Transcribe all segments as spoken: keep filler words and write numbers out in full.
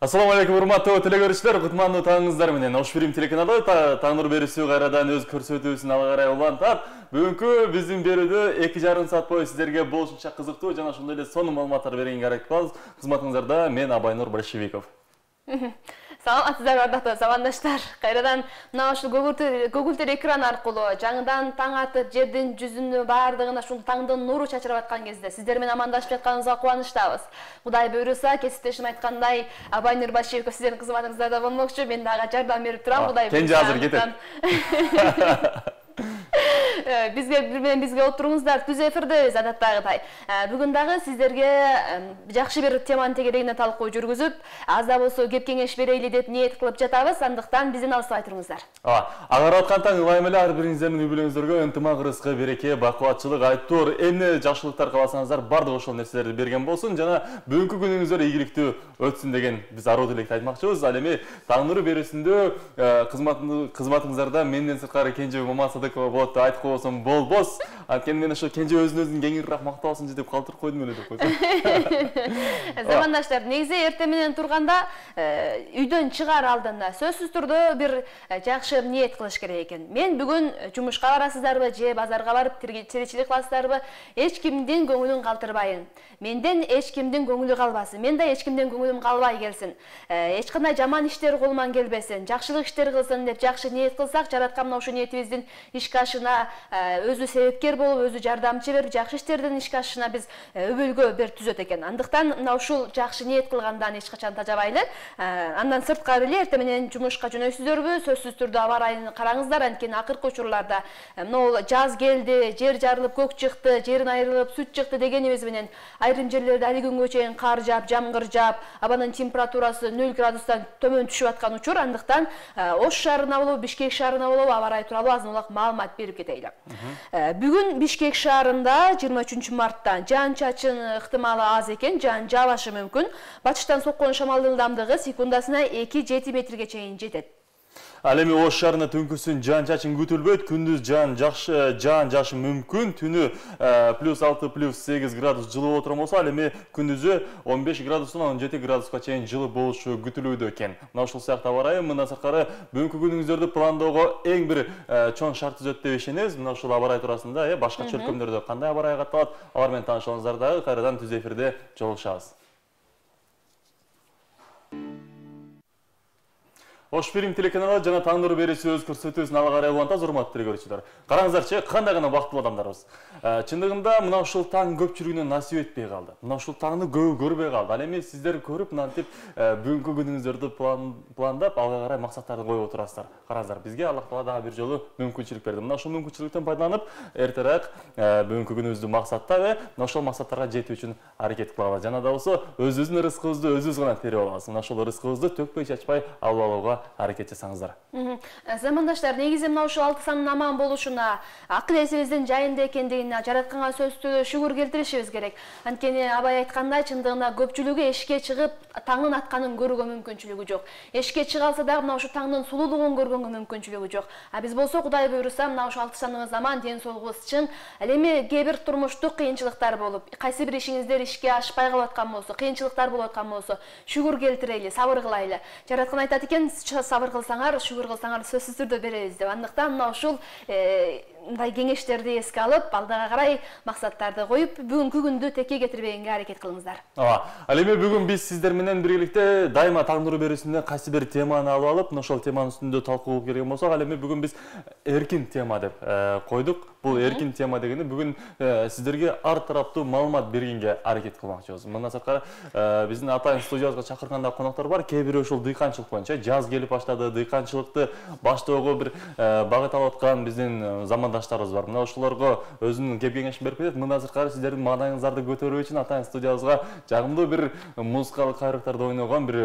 Assalamu alaikum, урматтуу телекөрүүчүлөр, кутмандуу таңыңыздар менен. Ош Фильм телеканалы таң нур берүүсү кайрадан өз көрсөтүүсүн ала карай улантат. Бүгүнкү биздин берүүдө эки жарым саат бою сиздерге болушунча кызыктуу жана ошондой эле сонун маалыматтар бергенге аракет кылабыз. Кызматыңыздарда мен Абайнур Большевиков. Саламатсыздар, ардактуу замандаштар. Кайрадан мына ушул көгүлтөр экран аркылуу жаңыдан таң атып, жердин жүзүнө баардыгына ушул таңдын нуру чачырап аткан кезде сиздер менен амандашып жатканыбызга кубанычтабыз. Кудай буйруса, кесиптешим айткандай, Абайнур Башиевов сиздердин кызматыңыздарда болмокчу. Мен дагы жардам берип турам, Кудай буйруса. Кенже азыр кетет. Бизге бир менен бизге отуруңуздар, түз эфирдебиз адаттагыдай. Бүгүн дагы сиздерге жакшы бир теманын тегерегине талкуу жүргүзүп, аз да болсо кеп кеңеш берейли деп ниет кылып жатабыз. Андыктан бизден алыстабай туруңуздар. Ага аткан ылайым эле ар бириңиздердин үй-бүлөңүздөргө ынтымак, ырыскы, береке, бакубатчылык, айтор, эмне жакшылыктар кааласаңыздар, бардык ошол нерселерди берген болсун жана бүгүнкү күнүңүздөр ийгиликтүү өтсүн деген биз аруу тилекти айтмакчыбыз. Ал эми таң нуру берүүсүндө кызматыңыздарда менден сырткары Кенже Мамасадыкова болот деп айтып койсом болбос. Анткени мен ошо Кенже өзүн өзүн кеңирээк мактабасынчы деп калтырып койдум эле деп койсом. Замандаштар, негизи эртең менен турганда үйдөн чыгаар алдында сөзсүз түрдө бир жакшы ниет кылыш керек экен. Мен бүгүн жумушка барасыздарбы же базарга барып тиричилик кыласыздарбы, эч кимдин көңүлүн калтырбайын. Менден эч кимдин көңүлү калбасын. Мен да эч кимдин көңүлүм калбай келсин. Эч кандай жаман иштер колуман келбесин, жакшылык иштер кылсын деп жакшы ниет кылсак, жараткан мына ушул ниетибиздин ишке ашына өзү себепкер болуп, өзү жардамчы берип, жакшы иштердин ишке ашышына биз өбөлгө бер түзөт экен. Андыктан мына ушул жакшы ниет кылгандан эч качан тажабайлы. Андан сырткары эле эртең менен жумушка жөнөйсүздөрбү, сөзсүз түрдө аба ырайын караңыздар. Анткени акыркы учурларда могул жаз келди, жер жарылып, көк чыкты, жерин айрылып, сүт чыкты дегенибиз менен айрым жерлерде али күнгө чейин кар жаап, жамгыр жаап, абанын температурасы нөл градустан төмөн түшүп аткан учур. Андыктан Ош шаарына болобу, Бишкек шаарына болобу аба ырайы тууралуу азын улак маалымат берип кетейли. Бүгүн Бишкек шаарында жыйырма үчүнчү мартта жаан-чачын ыктымалы аз экен, жаан жаабашы мүмкүн. Батыштан соккон шамалдын ылдамдыгы секундасына эки жети метрге чейин жетет. Ал эми Ош шаарында түнкүсүн жаан-чачын күтүлбөйт, күндүз жаан жакшы жаан жашы мүмкүн, түнү плюс алты плюс сегиз градус жылуу отурган болсо, ал эми күндүзү он беш градустан он жети градуска чейин жылуу болушу күтүлүүдө экен. Мына ушул сыяктуу аба ырайы мындан сырткары бүгүнкү күнүңүздөрдү пландоого эң бир чоң шарт түзөт деп ишенебиз. Мына ушул аба ырай туурасында башка чөлкөмдөрдө кандай аба ырай катталат, алар менен таанышыңыздар дагы кайрадан түз эфирде жолугушабыз. Ош Фильм телеканалы жана таң нуру берүүсү өз көрсөтүүсүн ала карай улантат, урматтуу телекөрүүчүлөр. Караңыздарчы, кандай гана бактылуу адамдарбыз. Чындыгында мына ушул таң көп чүрүүнү насип этпей калды. Мына ушул таңды көбү көрбөй калды. Ал эми сиздер көрүп, мынтип бүгүнкү күнүңүздөрдү пландап, алга карай максаттарды коюп отурасыздар. Караңыздар, бизге Аллах Таала дагы бир жолу мүмкүнчүлүк берди. Мына ушул мүмкүнчүлүктөн пайдаланып, эртерээк бүгүнкү күнүбүздү максаттап, мына ошол максаттарга жетүү үчүн аракет кылабыз. Жана да болсо өзүбүздүн рызкыбызды өзүбүз гана терип алабыз. Мына ошол рызкыбызды төкпөй чачпай алып алууга аракет жасаңыздар. Замандаштар, негизи мына ушул алты санын аман болушуна, акыл эсибиздин жайында экендигине жаратканга сөзсүз шүгүр келтиришибиз керек. Анткени абай айткандай, чындыгында көпчүлүгү эшикке чыгып таңдын атканын көрүүгө мүмкүнчүлүгү жок. Эшикке чыга алса дагы мына ушул таңдын сулуулугун көргөнгө мүмкүнчүлүгү жок. А биз болсо Кудай буйруса мына ушул алты саныбыз аман, ден соолугубуз чың. Ал эми кээ бир турмуштук кыйынчылыктар болуп, кайсы бир ишиңиздер ишке ашпай калып аткан болсо, кыйынчылыктар болуп аткан болсо, шүгүр келтирели, сабыр кылайлы. Жараткан айтат экен, сабыр кылсаңар, шүгүр кылсаңар сөзсүз түрдө беребиз деп. Андыктан мына ушул мындай кеңештерди эске алып, алдыга карай максаттарды коюп, бүгүнкү күндү текке кетирбегенге аракет кылыңыздар. Ооба. Ал эми бүгүн биз сиздер менен биргеликте дайыма таң нуру берүүсүндө кайсы бир теманы алып алып, мына ошол теманын үстүндө талкуу кылып келген болсок, ал эми бүгүн биз эркин тема деп койдук. Бул эркин тема дегени бүгүн сиздерге ар тараптуу маалымат бергенге аракет кылмакчыбыз. Мындан сырткары биздин атайын студиябызга чакырганда коноктор бар. Кээ бирөө ушул дыйканчылык боюнча жаз келип баштады, дыйканчылыкты баштоого бир багыт алып аткан биздин замандаштарыбыз бар. Мына ошолорго өзүнүн кеп кеңешин берип кетет. Мындан сырткары сиздердин маанайыңыздарды көтөрүү үчүн атайын студиябызга жагымдуу бир музыкалык кайрыктарды ойногон бир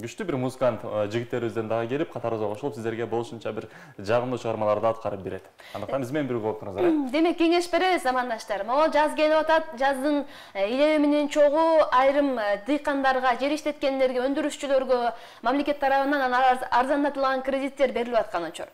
күчтүү бир музыкант жигиттерибизден дагы келип, катарыбызга кошулуп, сиздерге болушунча бир жагымдуу чыгармаларды аткарып берет. Андыктан биз менен бирге болуп жатырыңыздар. Демек кеңеш беребиз замандаштар. Могу жаз келип атат, жаздын илеби менен чогуу айрым дыйкандарга, жер иштеткендерге, өндүрүшчүлөргө мамлекет тарабынан арзандатылган кредиттер берилип аткан учур.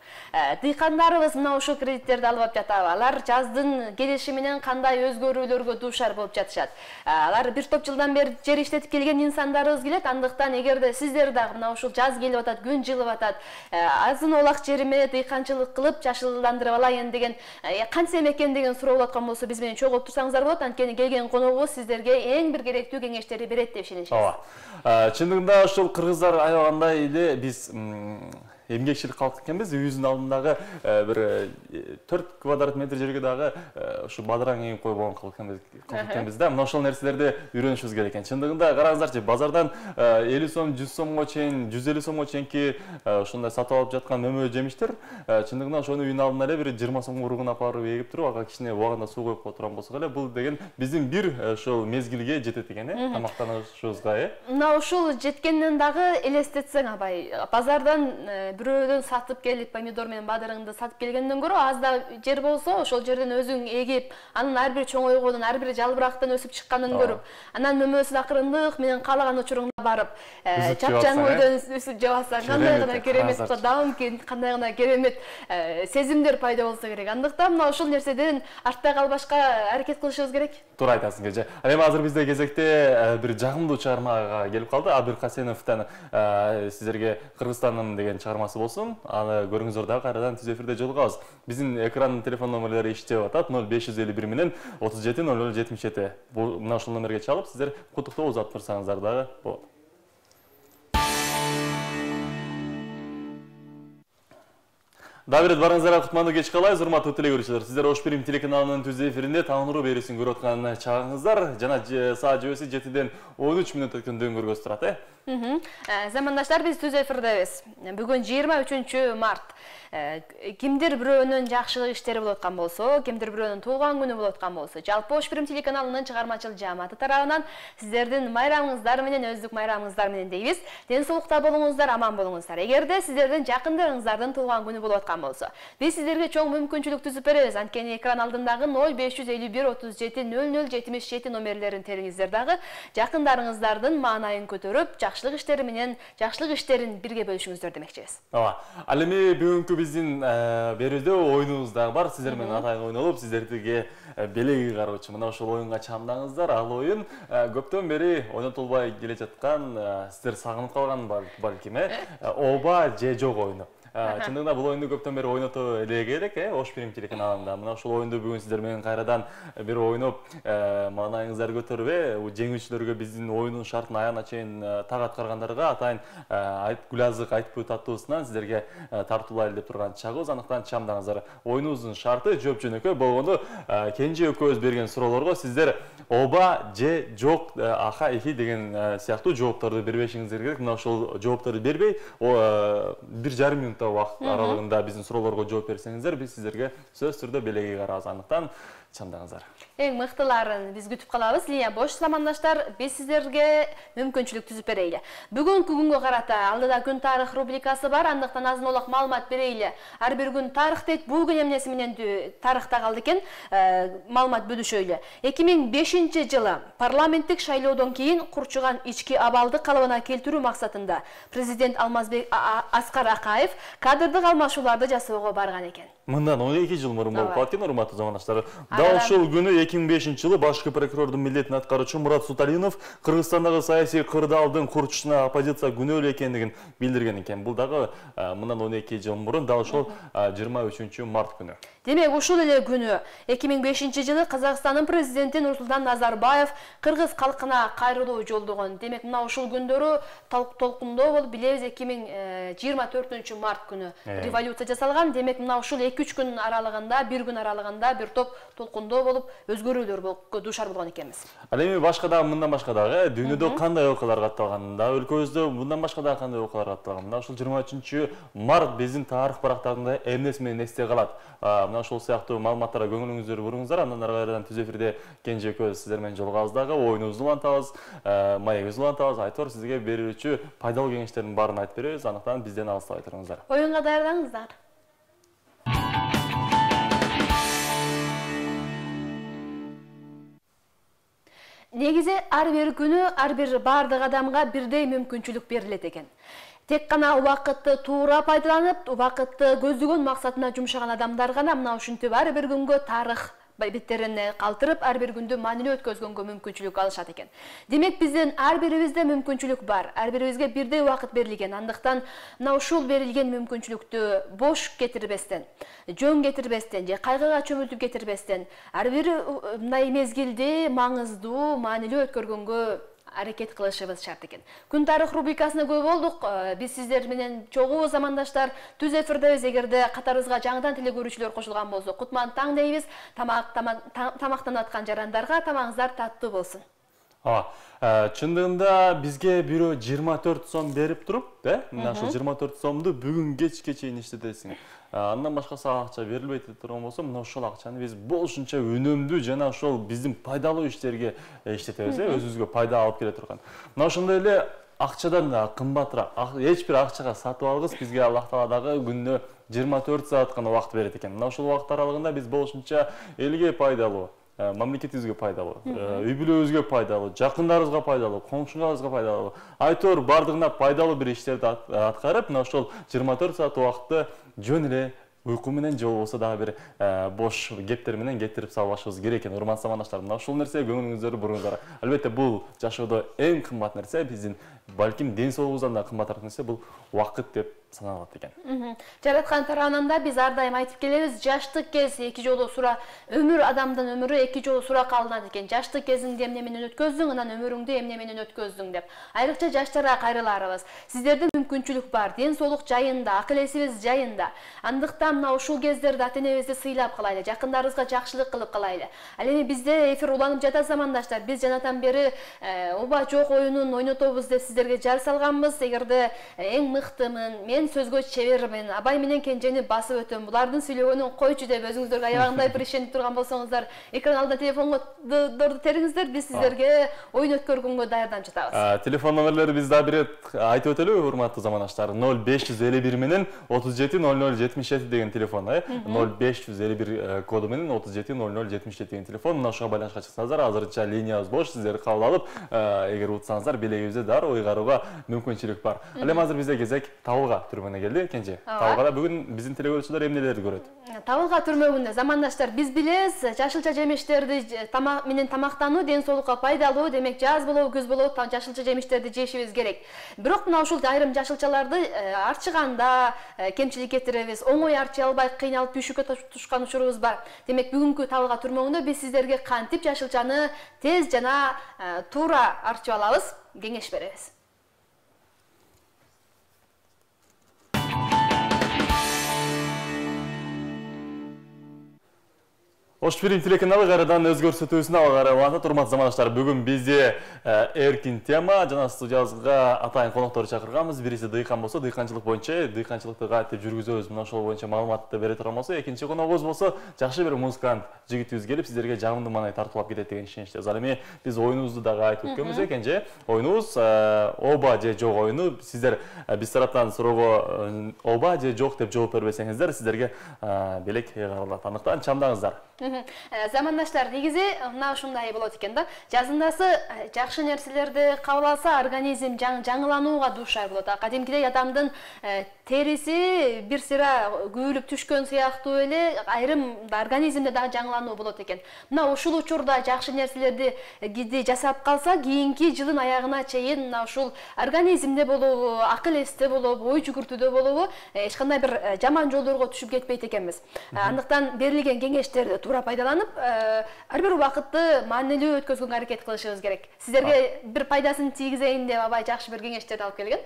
Дыйкандарыбыз мына ушул кредиттерди алып жатабы? Алар жаздын келиши менен кандай өзгөрүүлөргө дуушар болуп жатышат? Алар бир топ жылдан бери жер иштетип келген инсандарыбыз келет. Андыктан эгерде сиздер дагы мына ушул жаз келип атат, күн жылып атат, азын олак жериме дыйканчылык кылып жашылдандырып алайын деген, кантсе экен деген суроо болуп аткан болсо, биз менен чогулуп турсаңыздар болот. Анткени келген коногубуз сиздерге эң бир керектүү кеңештерди берет деп ишеничебиз. Ооба. Чындыгында ушул кыргыздар аябагандай эле биз эмгекчил калк экенбиз. Үйүбүздүн алдындагы бир төрт квадрат метр жерге дагы ушу бадыраң эгип койбогон калк экенбиз да. Мына ошол нерселерди үйрөнүшүбүз керек экен. Чындыгында караңыздарчы, базардан элүү сом, жүз сомго чейин, жүз элүү сомго чейинки ушундай сатып алып жаткан мөмө жемиштер, чындыгында ошону үйүнүн алдына эле бир жыйырма сомго уругун алып барып эгип туруп, ага кичине убагында суу коюп турган болсок эле, бул деген биздин бир ошол мезгилге жетет экен, э, тамактанышыбызга, э. Мына ушул жеткенден дагы элестетсең, абай, базардан бирөөдөн сатып келип, помидор менен бадырыңды сатып келгенден көрө, аз да жер болсо, ошол жерден өзүң эгип, анын ар бир чоңойгонун, ар бир жалбырактан өсүп чыкканын көрүп, анан мөмөсүн акырындык менен каалаган учуруңда барып, чапчаң бойдон үсүп жеп алсаң, кандай гана керемет, дагым кандай гана керемет сезимдер пайда болсо керек. Андыктан мына ушул нерседен артта калбашка аракет кылышыбыз керек. Туура айтасың, Кеже. Эми азыр бизде кезекте бир жагымдуу чыгармага келип калды. Абир Касеновдон сиздерге Кыргызстаным деген чыгармасы болсун. Аны көрүңүздөр дагы кайрадан түз эфирде жолугабыз. Биздин экрандын телефон номерлери иштеп атат. ноль беш жүз элүү бир менен отуз жети ноль ноль жетимиш жети. Бул мына ушул номерге чалып, сиздер куттуктоо узатып турсаңыздар дагы болот. Дагы бир барыңыздарга кутмандуу кеч калайбыз, урматтуу телекөрүүчүлөр. Сиздер Ош Бирим телеканалынын түз эфиринде таң нуру берүүсүн көрүп аткан чагыңыздар. Жана саат жебеси жетиден он үч мүнөт өткөндөн көргөзүп турат, э? Замандаштар, биз түз эфирдебиз. Бүгүн жыйырма үчүнчү март. Кимдир бирөөнүн жакшылык иштери болуп аткан болсо, кимдир бирөөнүн туулган күнү болуп аткан болсо, жалпы Ош Бирим телеканалынын чыгармачыл жааматы тарабынан сиздердин майрамыңыздар менен, өздүк майрамыңыздар менен дейбиз. Ден соолукта болуңуздар, аман болуңуздар. Эгерде сиздердин жакындарыңыздардын туулган күнү болуп аткан болсо, биз сиздерге чоң мүмкүнчүлүк түзүп беребиз. Анткени экран алдындагы ноль беш жүз элүү бир отуз жети ноль ноль жетимиш жети номерлерин териңиздер дагы жакындарыңыздардын маанайын көтөрүп, жакшылык иштери менен жакшылык иштерин бирге бөлүшүңүздөр демекчибиз. Ооба. Ал эми бүгүнкү биздин берүүдө оюнубуз дагы бар. Сиздер менен атайын ойнолуп, сиздерге белеги кароочу мына ошол оюнга чамдаңыздар. Ал оюн көптөн бери ойнотулбай келе жаткан, сиздер сагынып калган балким, э, Оба же жок оюну. Чындыгында бул оюнду көптөн бери ойното элек элек, э, Ош Бирим телеканалында. Мына ушул оюнду бүгүн сиздер менен кайрадан бир ойноп, маанайыңыздарды көтөрүп, э, жеңүүчүлөргө биздин оюнун шартын аягына чейин так аткаргандарга атайын Гүлазык Айтбүт аттуусунан сиздерге тартуулайлы деп турган чагыбыз. Андыктан чамдаңыздар. Оюнубуздун шарты жооп жөнөкөй болгону, Кенже экөөбүз берген суроолорго сиздер Оба же жок, аха, эхи деген сыяктуу жоопторду бербешиңиздер керек. Мына ошол жоопторду бербей, бир жарым минут убакыт аралыгында биздин суроолорго жооп берсеңиздер, биз сиздерге сөзсүз түрдө белеги карабыз. Андыктан чамдаңыздар. Эң мыктыларын биз күтүп калабыз. Линия бош, замандаштар, биз сиздерге мүмкүнчүлүк түзүп берейли. Бүгүнкү күнгө карата алдыда күн тарых рубрикасы бар, андыктан азын олак маалымат берейли. Ар бир күн тарых дейт, бул күн эмнеси менен тарыхта калды экен, маалымат бөлүшөйлү. эки миң бешинчи жылы парламенттик шайлоодон кийин курчуган ички абалды калыбына келтирүү максатында президент Алмазбек Аскар Акаев кадрдык алмашууларды жасоого барган экен. Мындан он эки жыл мурун болуп калат экен, урматтуу замандаштар. Дал ушул күнү эки миң бешинчи жылы башкы прокурордун милдетин аткаруучу Мурат Суталинов Кыргызстандагы саясий кырдаалдын курчушуна оппозиция күнөөлүү экендигин билдирген экен. Бул дагы мындан он эки жыл мурун, дал ушул жыйырма үчүнчү март күнү. Демек, ушул эле күнү эки миң бешинчи жылы Казакстандын президенти Нурсултан Назарбаев кыргыз калкына кайрылуу жолдогон. Демек, мына ушул күндөрү толкундоо болуп, билебиз, эки миң жыйырма төртүнчү март күнү революция жасалган. Демек, мына ушул эки үч күн аралыгында, бир күн аралыгында бир топ толкундоо болуп, өзгөрүүлөр болуп дуушар болгон экенбиз. Ал эми башка дагы, мындан башка дагы дүйнөдө кандай окуялар катталган, да өлкөбүздө мындан башка дагы кандай окуялар катталган. Мына ушул жыйырма үчүнчү март биздин тарых барактарында эмнеси менен эсте калат. Мына ушул сыяктуу маалыматтарга көңүлүңүздү буруңуздар. Андан ары кайрадан түз эфирде Кенже экөөбүз сиздер менен жолугабыз дагы, оюнубузду улантабыз, маегибизди улантабыз. Айтор сизге берүүчү пайдалуу кеңештердин баарын айтып беребиз. Андыктан бизден алыстабай туруңуздар. Оюнга даярдаңыздар. негизи ар бир күнү ар бир бардык адамга бирдей мүмкүнчүлүк берилет экен. Тек гана убакытты туура пайдаланып, убакытты көздөгөн максатына жумшаган адамдар гана мына ушинтип ар бир күнгө тарых беттерине калтырып, ар бир күндү маанилүү өткөзгөнгө мүмкүнчүлүк алышат экен. Демек биздин ар бирибизде мүмкүнчүлүк бар. Ар бирибизге бирдей убакыт берилген. Андыктан мына ушул берилген мүмкүнчүлүктү бош кетирбестен, жөн кетирбестен же кайгыга чөмүлтүп кетирбестен, ар бир мындай мезгилди маңыздуу, маанилүү өткөргөнгө аракет кылышыбыз шарт экен. Күн тарых рубрикасына көп болдук. Биз сиздер менен чогуу замандаштар түз эфирдебиз. Эгерде катарыбызга жаңыдан теле көрүүчүлөр кошулган болсо, кутман таң дейбиз. Тамак тамактанып аткан жарандарга тамагыңыздар таттуу болсун. Ооба, чындыгында бизге бирөө жыйырма төрт сом берип туруп, э? Мына ошол жыйырма төрт сомду бүгүн кечке чейин иштетесиң. Андан башкасы акча берилбейт деп турган болсо, мына ошол акчаны биз болушунча үнөмдүү жана ошол биздин пайдалуу иштерге иштетебиз, э? Өзүбүзгө пайда алып келе турган. Мына ошондой эле акчадан да кымбатыраак, эч бир акчага сатып алгыс бизге Аллах Таала дагы күнүнө жыйырма төрт саат гана убакыт берет экен. Мына ошол убакыт аралыгында биз болушунча элге пайдалуу, мамлекетибизге пайдалуу, үй бүлөбүзгө пайдалуу, жакындарыбызга пайдалуу, комшуңарыбызга пайдалуу, айтор бардыгына пайдалуу бир иштерди аткарып, мына ошол жыйырма төрт саат убакытты жөн эле уйку менен же болбосо дагы бир бош кептер менен кетирип салбашыбыз керек экен. Урматтуу замандаштар, мына ушул нерсе көңүлүңүздөрдү буруңуздар. Албетте бул жашоодо эң кымбат нерсе, биздин балким ден соолугубуздан да кымбатыраак нерсе бул убакыт деп саналат экен. Жараткан тарабынан да биз ар дайым айтып келебиз, жаштык кез эки жолу сура, өмүр адамдын өмүрү эки жолу суракка алынат экен. Жаштык кезиңди эмне менен өткөздүң, анан өмүрүңдү эмне менен өткөздүң деп. Айрыкча жаштарга кайрыларыбыз. Сиздерде мүмкүнчүлүк бар, ден соолук жайында, акыл эсибиз жайында. Андыктан мына ушул кездерде ата-энебизди сыйлап калайлы, жакындарыбызга жакшылык кылып калайлы. Ал эми бизде эфир уланып жатат замандаштар. Биз жанатан бери оба жок оюнун ойнотобуз деп сиздерге жар салганбыз. Эгерде эң мыктымын, мен сөзгө чебермин, абай менен кенжени басып өтөм, булардын сүйлөгөнүн койчу деп өзүңүздөргө аябагандай бир ишенип турган болсоңуздар, экран алдына телефондорду териңиздер, биз сиздерге оюн өткөргөнгө даярданып жатабыз. Телефон номерлери биз дагы бир ирет айтып өтөлүбү, урматтуу замандаштар? ноль беш жүз элүү бир менен отуз жети ноль ноль жетимиш жети деген телефон, э? ноль беш жүз элүү бир коду менен отуз жети ноль ноль жетимиш жети деген телефон. Мына ошого байланышка чыксаңыздар, азырынча линиябыз бош, сиздерди кабыл алып, эгер утсаңыздар, белегибизде дароо ыйгарууга мүмкүнчүлүк бар. Ал эми азыр бизде кезек табылга түрмөгүнө келди, Кенже. Табылгада бүгүн биздин теле көрүүчүлөр эмнелерди көрөт? Табылга түрмөгүндө замандаштар, биз билебиз, жашылча жемиштерди тамак менен тамактануу ден соолукка пайдалуу, демек жаз болобу, күз болобу жашылча жемиштерди жешибиз керек. Бирок мына ушул айрым жашылчаларды арчыганда кемчилик кетиребиз, оңой арчый албай кыйналып түйшүккө тушкан учурубуз бар. Демек бүгүнкү табылга түрмөгүндө биз сиздерге кантип жашылчаны тез жана туура арчып алабыз, кеңеш беребиз. Ош Пирим телеканалы кайрадан өз көрсөтүүсүнө алып барат. Урматтуу замандаштар, бүгүн бизде эркин тема жана студиябызга атайын коноктор чакырганбыз. Бириси дыйкан болсо, дыйканчылык боюнча, дыйканчылыкты кантип жүргүзөбүз, мына ошол боюнча маалыматты бере турган болсо, экинчи коногубуз болсо, жакшы бир музыкант жигитибиз келип, сиздерге жагымдуу маанай тартуулап кетет деген ишеничтебиз. Ал эми биз оюнубузду дагы айтып өткөнбүз экен же. Оюнубуз оба же жок оюну. Сиздер биз тараптан суроого оба же жок деп жооп бербесеңиздер, сиздерге белек ыйгарылат. Андыктан чамдаңыздар. Замандаштар, негизи мына ушундай болот экен да. Жазындасы жакшы нерселерди кабыл алса, организм жаңыланууга дуушар болот. Кадимкидей адамдын териси бир сыйра күйүлүп түшкөн сыяктуу эле айрым организмде дагы жаңылануу болот экен. Мына ушул учурда жакшы нерселерди жасап калса, кийинки жылдын аягына чейин мына ушул организмде болобу, акыл эсте болобу, ой жүгүртүүдө болобу, эч кандай бир жаман жолдорго түшүп кетпейт экенбиз. Андыктан берилген кеңештерди туура пайдаланып, ар бир убакытты маанилүү өткөзгөнгө аракет кылышыбыз керек. Сиздерге бир пайдасын тийгизейин деп абай жакшы бир кеңештерди алып келген.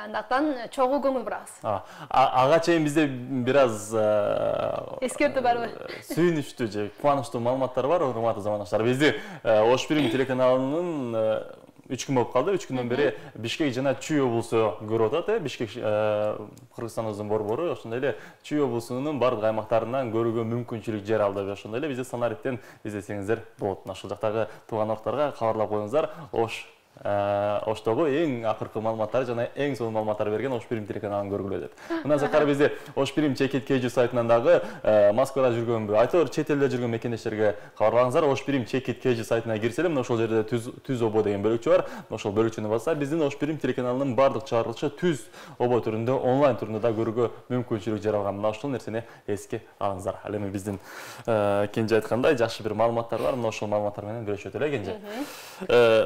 Андыктан чогуу көңүл бурабыз. Ага чейин бизде бир аз эскертүү барбы? Сүйүнүчтүү же кубанычтуу маалыматтар бар, урматтуу замандаштар. Бизди Ош Пирим телеканалынын үч күн болуп калды. үч күндөн бери Бишкек жана Чүй облусу көрүп атат, э? Бишкек Кыргызстаныбыздын борбору, ошондой эле Чүй облусунун бардык аймактарынан көрүүгө мүмкүнчүлүк жер алды. Ошондой эле бизди Санариптен издесеңиздер болот. Ошол жактагы тууган ортторго кабарлап коюңуздар. Ош Оштогу эң акыркы маалыматтар жана эң сонун маалыматтар берген Ош Бирим телеканалын көргүлө деп. Мындан сырткары бизде Ош Бирим чекит кж сайтынан дагы Москвада жүргөнбү, айтор чет элде жүргөн мекендештерге кабарлаңыздар. Ош Бирим чекит кж сайтына кирсе эле, мына ошол жерде түз түз обо деген бөлүкчө бар. Ошол бөлүкчөнү басса, биздин Ош Бирим телеканалынын бардык чыгарылышы түз обо түрүндө, онлайн түрүндө да көрүүгө мүмкүнчүлүк жаралган. Мына ошол нерсени эске алыңыздар. Ал эми биздин Кенже айткандай жакшы бир маалыматтар бар. Мына ошол маалыматтар менен бөлүшөт эле Кенже.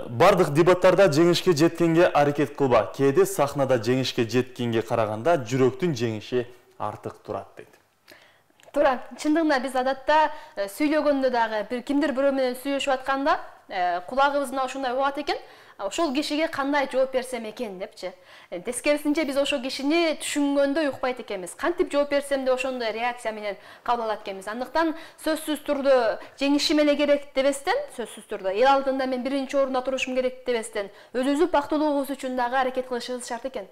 Бардык дебаттарда жеңишке жеткенге аракет кылба. Кээде сахнада жеңишке жеткенге караганда жүрөктүн жеңиши артык турат дейт. Туура. Чындыгында биз адатта сүйлөгөндө дагы бир кимдир бирөө менен сүйлөшүп атканда кулагыбыздан ушундай угат экен. Ошол кишиге кандай жооп берсем экен депчи. Тескерисинче биз ошол кишини түшүнгөндө укпайт экенбиз. Кантип жооп берсем деп ошондой реакция менен кабыл алат экенбиз. Андыктан сөзсүз түрдө жеңишим эле керек дебестен, сөзсүз түрдө эл алдында мен биринчи орунда турушум керек дебестен, өзүбүздүн бактылуулугубуз үчүн дагы аракет кылышыбыз шарт экен.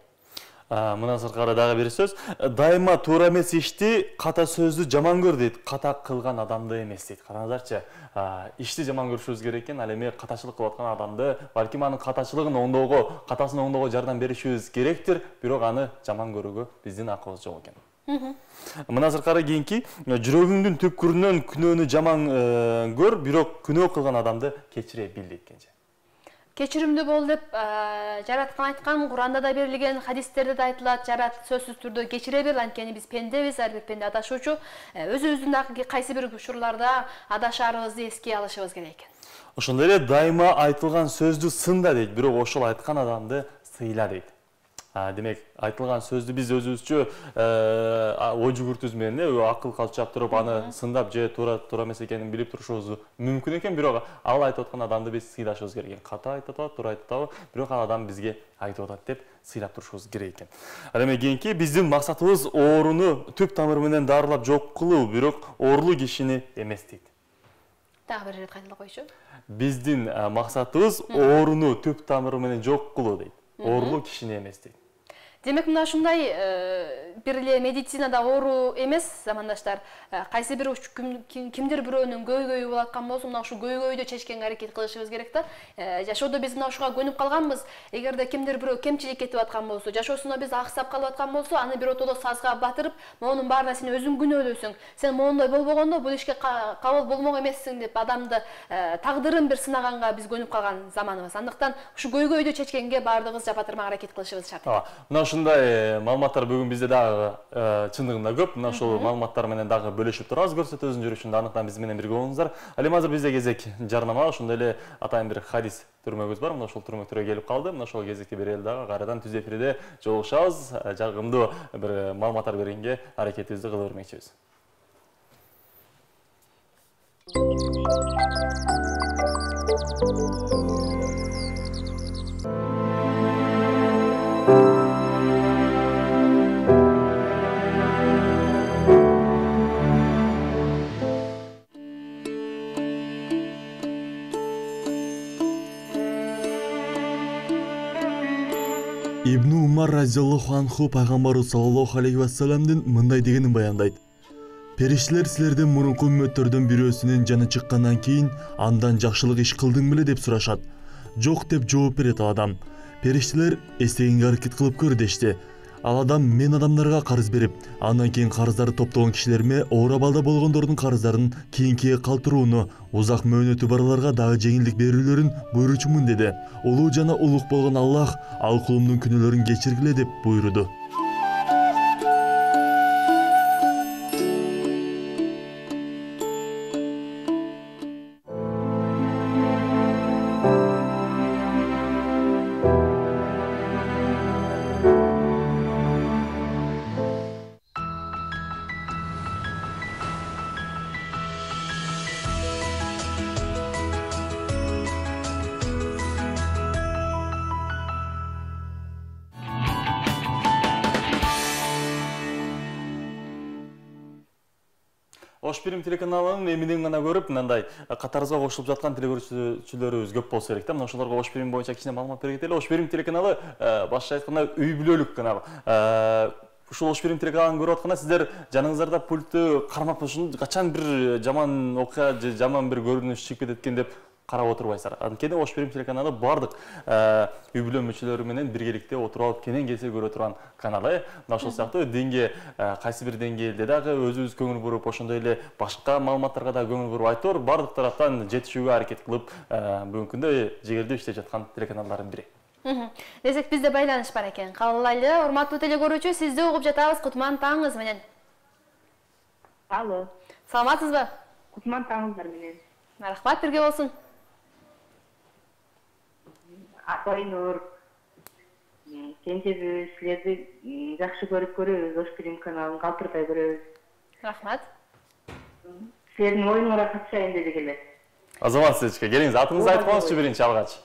Мындан сырткары дагы бир сөз. Дайыма туура эмес ишти ката сөздү жаман көр дейт, ката кылган адамды эмес дейт. Караңыздарчы, ишти жаман көрүшүбүз керек экен, ал эми катачылык кылып аткан адамды, балким анын катачылыгын оңдоого, катасын оңдоого жардам беришибиз керектир, бирок аны жаман көрүүгө биздин акыбыз жок экен. Мындан сырткары кийинки, жүрөгүңдүн түпкүрүнөн күнөөнү жаман көр, бирок күнөө кылган адамды кечире бил дейт Кенже. Кечиримдүү бол деп жараткан айткан, Куранда да берилген, хадистерде да айтылат, жарат сөзсүз түрдө кечире бер, анткени биз пендебиз, ар бир пенде адашуучу. Өзүбүздүн дагы кайсы бир учурларда адашарыбызды эске алышыбыз керек экен. Ошондой эле дайыма айтылган сөздү сында дейт, бирок ошол айткан адамды сыйла дейт. Демек, айтылган сөздү биз өзүбүзчө ой жүгүртүүбүз менен акыл калчап туруп, аны сындап же туура туура эмес экенин билип турушубуз мүмкүн экен, бирок ал айтып аткан адамды биз сыйлашыбыз керек экен. Ката айтып атат, туура айтып атабы, бирок ал адам бизге айтып атат деп сыйлап турушубуз керек экен. Ал эми кийинки биздин максатыбыз ооруну түп тамыры менен дарылап жок кылуу, бирок оорулуу кишини эмес дейт. Дагы бир ирет кайталап койчу. Биздин максатыбыз ооруну түп тамыры менен жок кылуу дейт. Оорулуу кишини эмес дейт. Демек, мына ушундай бир эле медицинада оору эмес, замандаштар, кайсы бир кимдир бирөөнүн көйгөйү болуп аткан болсо, мына ушул көйгөйдү чечкенге аракет кылышыбыз керек да. Жашоодо биз мына ушуга көнүп калганбыз. Эгерде кимдир бирөө кемчилик кетип аткан болсо, жашоосунда биз аксап калып аткан болсо, аны бир отодо сазга батырып, монун баарына сен өзүң күнөөлөсүң. Сен моундай болбогондо бул ишке кабыл болмок эмессиң деп адамды тагдырын бир сынаганга биз көнүп калган заманыбыз. Андыктан ушу көйгөйдү чечкенге баардыгыбыз жапатырмак аракет кылышыбыз шарт. Мына ушундай маалыматтар бүгүн бизде дагы чындыгында көп. Мына ушул маалыматтар менен дагы бөлүшүп турабыз көрсөтүүбүздүн жүрүшүндө. Андыктан биз менен бирге болуңуздар. Ал эми азыр бизде кезек жарнама, ошондой эле атайын бир хадис түрмөгүбүз бар. Мына ошол түрмөктөргө келип калды. Мына ошол кезекти бир эл дагы кайрадан түз эфирде жолугушабыз. Жагымдуу бир маалыматтар бергенге аракетибизди кыла бермекчибиз. Ибн Умар разияллаху анху пайгамбарыбыз саллаллаху алейхи вассаламдын мындай дегенин баяндайт. Периштелер силерден мурунку үммөттөрдөн бирөөсүнүн жаны чыккандан кийин андан жакшылык иш кылдың беле деп сурашат. Жок деп жооп берет ал адам. Периштелер эстегенге аракет кылып көр дешти. Ал адам мен адамдарга карыз берип, андан кийин карыздарды топтогон кишилериме оор абалда болгондордун карыздарын кийинкиге калтырууну, узак мөөнөтү барларга дагы жеңилдик берүүлөрүн буйручумун деди. Улуу жана улук болгон Аллах ал кулумдун күнөөлөрүн кечиргиле деп буйруду. Ош Бирим телеканалынын эминен гана көрүп, мындай катарыбызга кошулуп жаткан телекөрүүчүлөрүбүз көп болсо керек да. Мына ошолорго Ош Бирим боюнча кичине маалымат бере кетели. Ош Бирим телеканалы башкача айтканда үй бүлөлүк канал. Ушул Ош Бирим телеканалын көрүп атканда сиздер жаныңыздарда пультту кармап ушун качан бир жаман окуя же жаман бир көрүнүш чыгып кетет экен деп карап отурбайсыздар. Анткени Ош Берим телеканалы бардык үй бүлө мүчөлөрү менен биргеликте отуруп алып кенен келсе көрө турган канал. Мына ошол сыяктуу деңге кайсы бир деңгээлде дагы өзүбүз көңүл буруп, ошондой эле башка маалыматтарга да көңүл буруп айтор бардык тараптан жетишүүгө аракет кылып, бүгүнкү күндө жегердүү иштеп жаткан телеканалдардын бири. Десек бизде байланыш бар экен. Кабылдайлы. Урматтуу теле көрүүчү, сизди угуп жатабыз. Кутман таңыңыз менен. Алло. Саламатсызбы? Кутман таңыңыздар менен. Рахмат, бирге болсун. Апайнур. Кенжебиз, силерди жакшы көрүп көрөбүз, Ош Берим каналын калтырбай көрөбүз. Рахмат. Силердин оюңарга катышайын дедик эле. Азамат Сечке, келиңиз, атыңызды айтып коюңузчу биринчи алгач.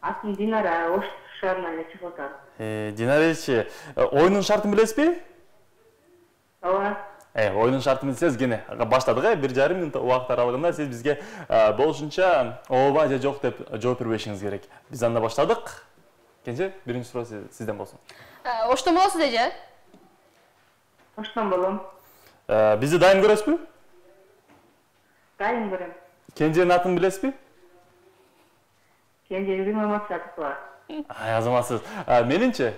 Атым Динара, Ош шаарынан эле чыгып атам. Динаречи, оюнун шартын билесизби? Ооба. Э, оюнун шартын билсеңиз, кene баштадык, э, бир жарым мүнөт убакыт аралыгында сиз бизге болушунча ооба же жок деп жооп бербешиңиз керек. Биз анда баштадык. Кенже, биринчи суроо сизден болсун. Оштон болосуз деже? Оштон болом. Бизди дайым көрөсүзбү? Дайым көрөм. Кенженин атын билесизби? Кенжебиз Маматжатова. Ай, азаматсыз. Менинчи?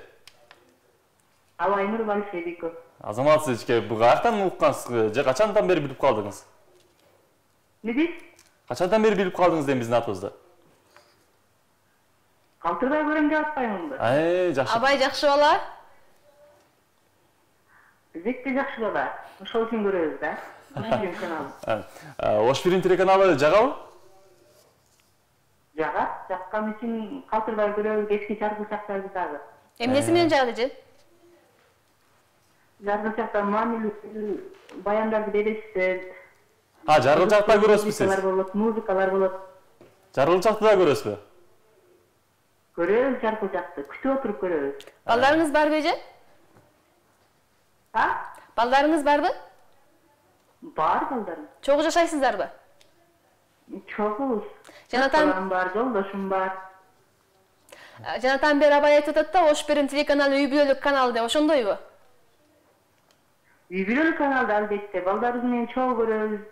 Абайнур Балшебиков. Азаматсыз ичке, бу каяктан уккансыз же качандан бери билип калдыңыз? Не дейсиз? Качандан бери билип калдыңыз дейм биздин атыбызды? Калтырбай көрөм деп атпаймынбы? Ай, жакшы. Абай жакшы бала. Зекте жакшы бала. Ошол үчүн көрөбүз да. Ош Берим каналы. Ош Берим телеканалы жагабы? Жагат, жаккан үчүн калтырбай көрөбүз, эски жаргылчактарды дагы. Эмнеси менен жагат эже? Жаргылчакта маанилүү баяндарды бересиздер. А, жаргылчакта көрөсүзбү сиз? Музыкалар болот, музыкалар болот. Жаргылчакты да көрөсүзбү? Көрөбүз жаргылчакты, күтүп отуруп көрөбүз. Балдарыңыз барбы эже? А? Балдарыңыз барбы? Бар балдарым. Чогуу жашайсыздарбы? Чогубуз. Жанатан Балам бар, жолдошум бар. Жанатан бери Абай айтып атат да, Ош Берим телеканалы үй бүлөлүк канал деп, ошондойбу? Үй бүлөлүк каналда албетте, балдарыбыз менен чогуу көрөбүз.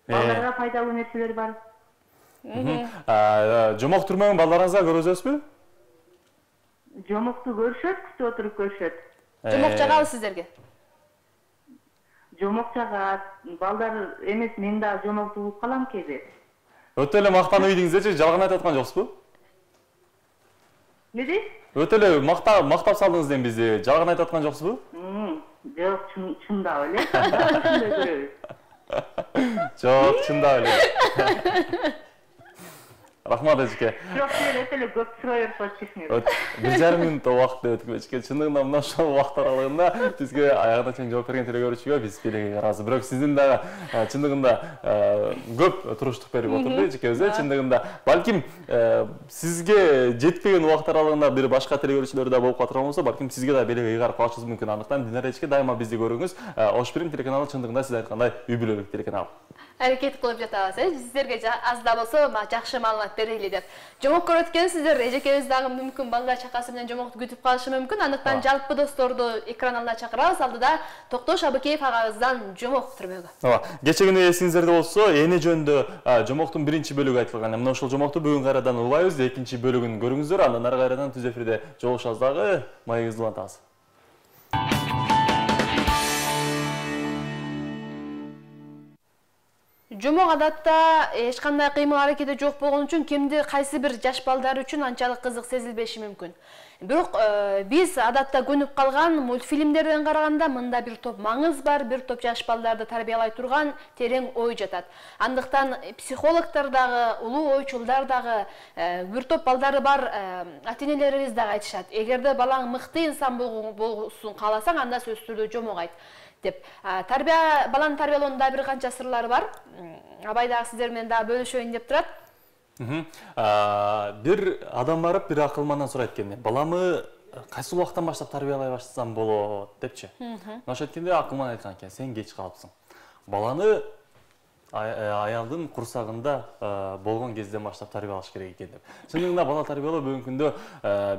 Балдарга пайдалуу нерселер бар. Жомок түрмөгүн балдарыңызга көргөзөсүзбү? Жомокту көрүшөт, күтүп отуруп көрүшөт. Жомок жагабы сиздерге? Жомок жагат, балдар эмес, мен дагы жомокту угуп калам кээде. Өтө эле мактанып ийдиңиздечи, жалган айтып аткан жоксузбу? Не дейсиз? Өтө эле мактап мактап салдыңыз дейм бизди, жалган айтып аткан жоксузбу? Жок, чындап эле. Чындап көрөбүз. Жок, чындап эле. Рахмат эжеке. Жок, силер өтө эле көп сурай берип кетиңиз. бир жарым мүнөт убакыт өтүп эжеке. Чындыгында мына ошол убакыт аралыгында бизге аягына чейин жооп берген теле көрүүчүгө биз белеги карабыз. Бирок сиздин дагы чындыгында көп туруштук берип отурду эжекебиз. Чындыгында балким сизге жетпеген убакыт аралыгында бир башка теле көрүүчүлөр да болуп калган болсо, балким сизге да белеги ыйгарып калышыбыз мүмкүн. Андыктан Динара эжеке дайыма бизди көрүңүз. Ош Берим телеканалы чындыгында сиз айткандай үй бүлөлүк телеканал. Аракет кылып жатабыз, э? Сиздерге аз да болсо жакшы маалымат берели деп. Жомок көрөт экенсиздер, эжекебиз дагы мүмкүн балдар чакасы менен жомокту күтүп калышы мүмкүн. Андыктан жалпы досторду экран алдына чакырабыз. Алдыда Токтош Абыкеев агабыздан жомок түрмөгү. Ооба, кече күнү эсиңиздерде болсо, эне жөнүндө жомоктун биринчи бөлүгү айтылган. Мына ошол жомокту бүгүн кайрадан улайбыз, экинчи бөлүгүн көрүңүздөр. Андан ары кайрадан түз эфирде жолугушабыз дагы. Маегиңизди улантабыз. Жомок адатта эч кандай кыймыл аракети жок болгон үчүн кимди кайсы бир жаш балдар үчүн анчалык кызык сезилбеши мүмкүн. Бирок биз адатта көнүп калган мультфильмдерден караганда мында бир топ маңыз бар, бир топ жаш балдарды тарбиялай турган терең ой жатат. Андыктан психологдор дагы, улуу ойчулдар дагы, бир топ балдары бар ата-энелерибиз дагы айтышат. Эгерде балаң мыкты инсан болсун кааласаң, анда сөзсүз түрдө жомок айт деп. Тарбия баланы тарбиялоонун бир канча сырлары бар. Абай дагы сиздер менен дагы бөлүшөйүн деп турат. Бир адам барып бир акылмандан сурайт экен. Баламы кайсы убактан баштап тарбиялай баштасам болот депчи. Ошо айткенде акылман айткан экен, сен кеч калыпсың. Баланы аялдын курсагында болгон кезден баштап тарбиялаш керек экен деп. Чындыгында бала тарбиялоо бүгүнкү күндө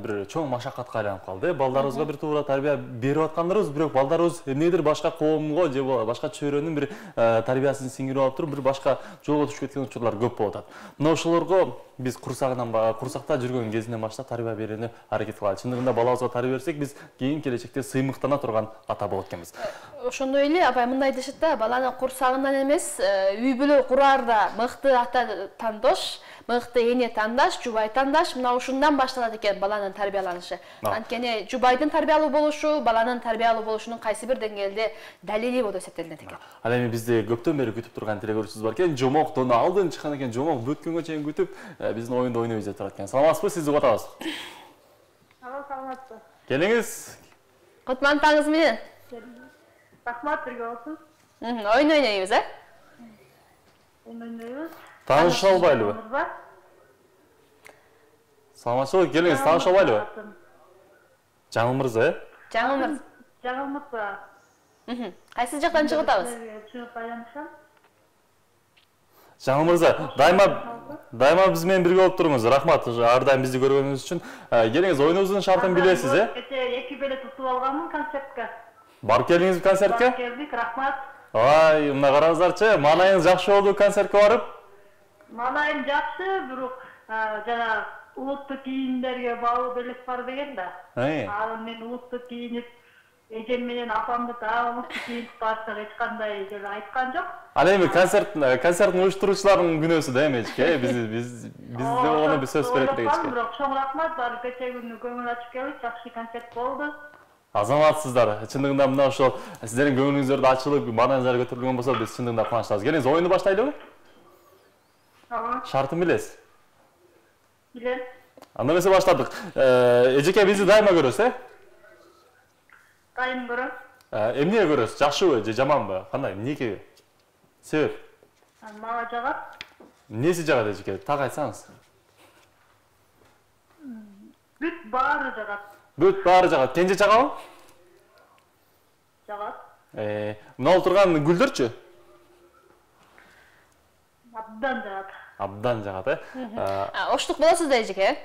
бир чоң машакатка айланып калды. Балдарыбызга бир туура тарбия берип аткандарыбыз, бирок балдарыбыз эмнедир башка коомго же башка чөйрөнүн бир тарбиясын сиңирип алып туруп, бир башка жолго түшүп кеткен учурлар көп болуп атат. Мына ошолорго биз курсагынан курсакта жүргөн кезинен баштап тарбия берүүнү аракет кылалы. Чындыгында балабызга тарбия берсек, биз кийин келечекте сыймыктана турган ата болот экенбиз. Ошондой эле апай мындай дешет да, баланы курсагынан эмес, үй бүлө кураарда мыкты ата тандош, мыкты эне тандаш, жубай тандаш, мына ушундан башталат экен баланын тарбияланышы. Анткени жубайдын тарбиялуу болушу баланын тарбиялуу болушунун кайсы бир деңгээлде далили болуп эсептелинет экен. Ал эми бизди көптөн бери күтүп турган теле көрүүчүбүз бар экен. Жомоктон алдын чыккан экен. Жомок бүткөнгө чейин күтүп, биздин оюнду ойнойбуз деп турат экен. Саламатсызбы? Сизди угатабыз. Алло, саламатсызбы. Келиңиз. Кутман таңыңыз менен. Рахмат, бирге болсун. Ойун ойнойбуз, э? Ойун ойнойбуз. Тааныша албайлыбы? Саламатчылык, келиңиз, тааныша албайлыбы? Жаңыл мырза, э? Жаңыл мырза. Жаңыл мырза. Кайсы жактан чыгып атабыз? Чыгып байланышам. Жаңыл мырза, дайыма дайыма биз менен бирге болуп туруңуз. Рахмат, ар дайым бизди көргөнүңүз үчүн. Келиңиз, оюнубуздун шартын билесиз, э? Кече эки билет утуп алганмын концертке. Барып келдиңизби концертке? Барып келдик, рахмат. Ай, мына караңыздарчы, маанайыңыз жакшы болду концертке барып? Маанайым жакшы, бирок жана улуттук кийимдерге баалуу белек бар деген да. Ал мен улуттук кийинип, эжем менен апамды да улуттук кийинип барсак эч кандай деле айткан жок. Ал эми концерт концерттин уюштуруучулардын күнөөсү да эмечке, биз биз бизде ону бир сөз берет дегенчке. Бирок чоң рахмат, баары кече күнү көңүл ачып келип, жакшы концерт болду. Азаматсыздар. Чындыгында мына ошол сиздердин көңүлүңүздөрдү ачылып, маанаңыздар көтөрүлгөн болсо, биз чындыгында кубанычтабыз. Келиңиз, оюнду баштайлыбы? Ага. Шартын билесиз? Билем. Анда эмесе баштадык. Эжеке бизди дайыма көрөсүз, э? Дайым көрөм. Эмнеге көрөсүз? Жакшыбы же жаманбы? Кандай? Эмнеге? Себеп? Мага жагат. Эмнеси жагат эжеке? Так айтсаңыз. Бүт баары жагат. Бүт баары жагат. Кенже жагабы? Жагат. Э, мына отурган гүлдөрчү? Абдан жагат. Абдан жагат, э? Оштук болосуз да эжеке?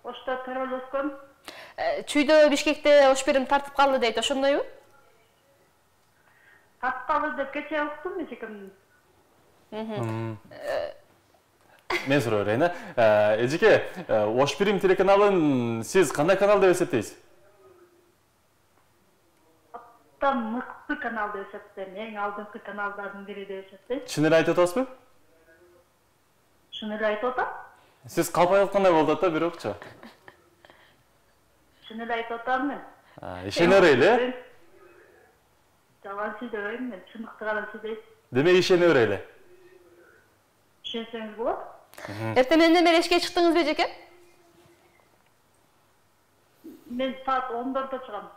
Ошто төрөлүп өскөн. Чүйдө Бишкекте ош берим тартып калды дейт, ошондойбу? Тартып калды деп кече уктум эжекем. Мен суроо берейин, э? Эжеке, Ош Бирим телеканалын сиз кандай канал деп эсептейсиз? Абдан мыкты канал деп эсептейм. Эң алдыңкы каналдардын бири деп эсептейм. Чын эле айтып атасызбы? Чын эле айтып атам. Сиз калпай аткандай болуп атат да, бирокчу. Чын эле айтып атам мен. Ишене берели, э? Жалган сүйлөбөйм мен, чындыкты гана сүйлөйм. Демек ишене берели. Ишенсеңиз болот. Эртең менен бери эшикке чыктыңызбы эжеке? Мен саат ондордо чыгам.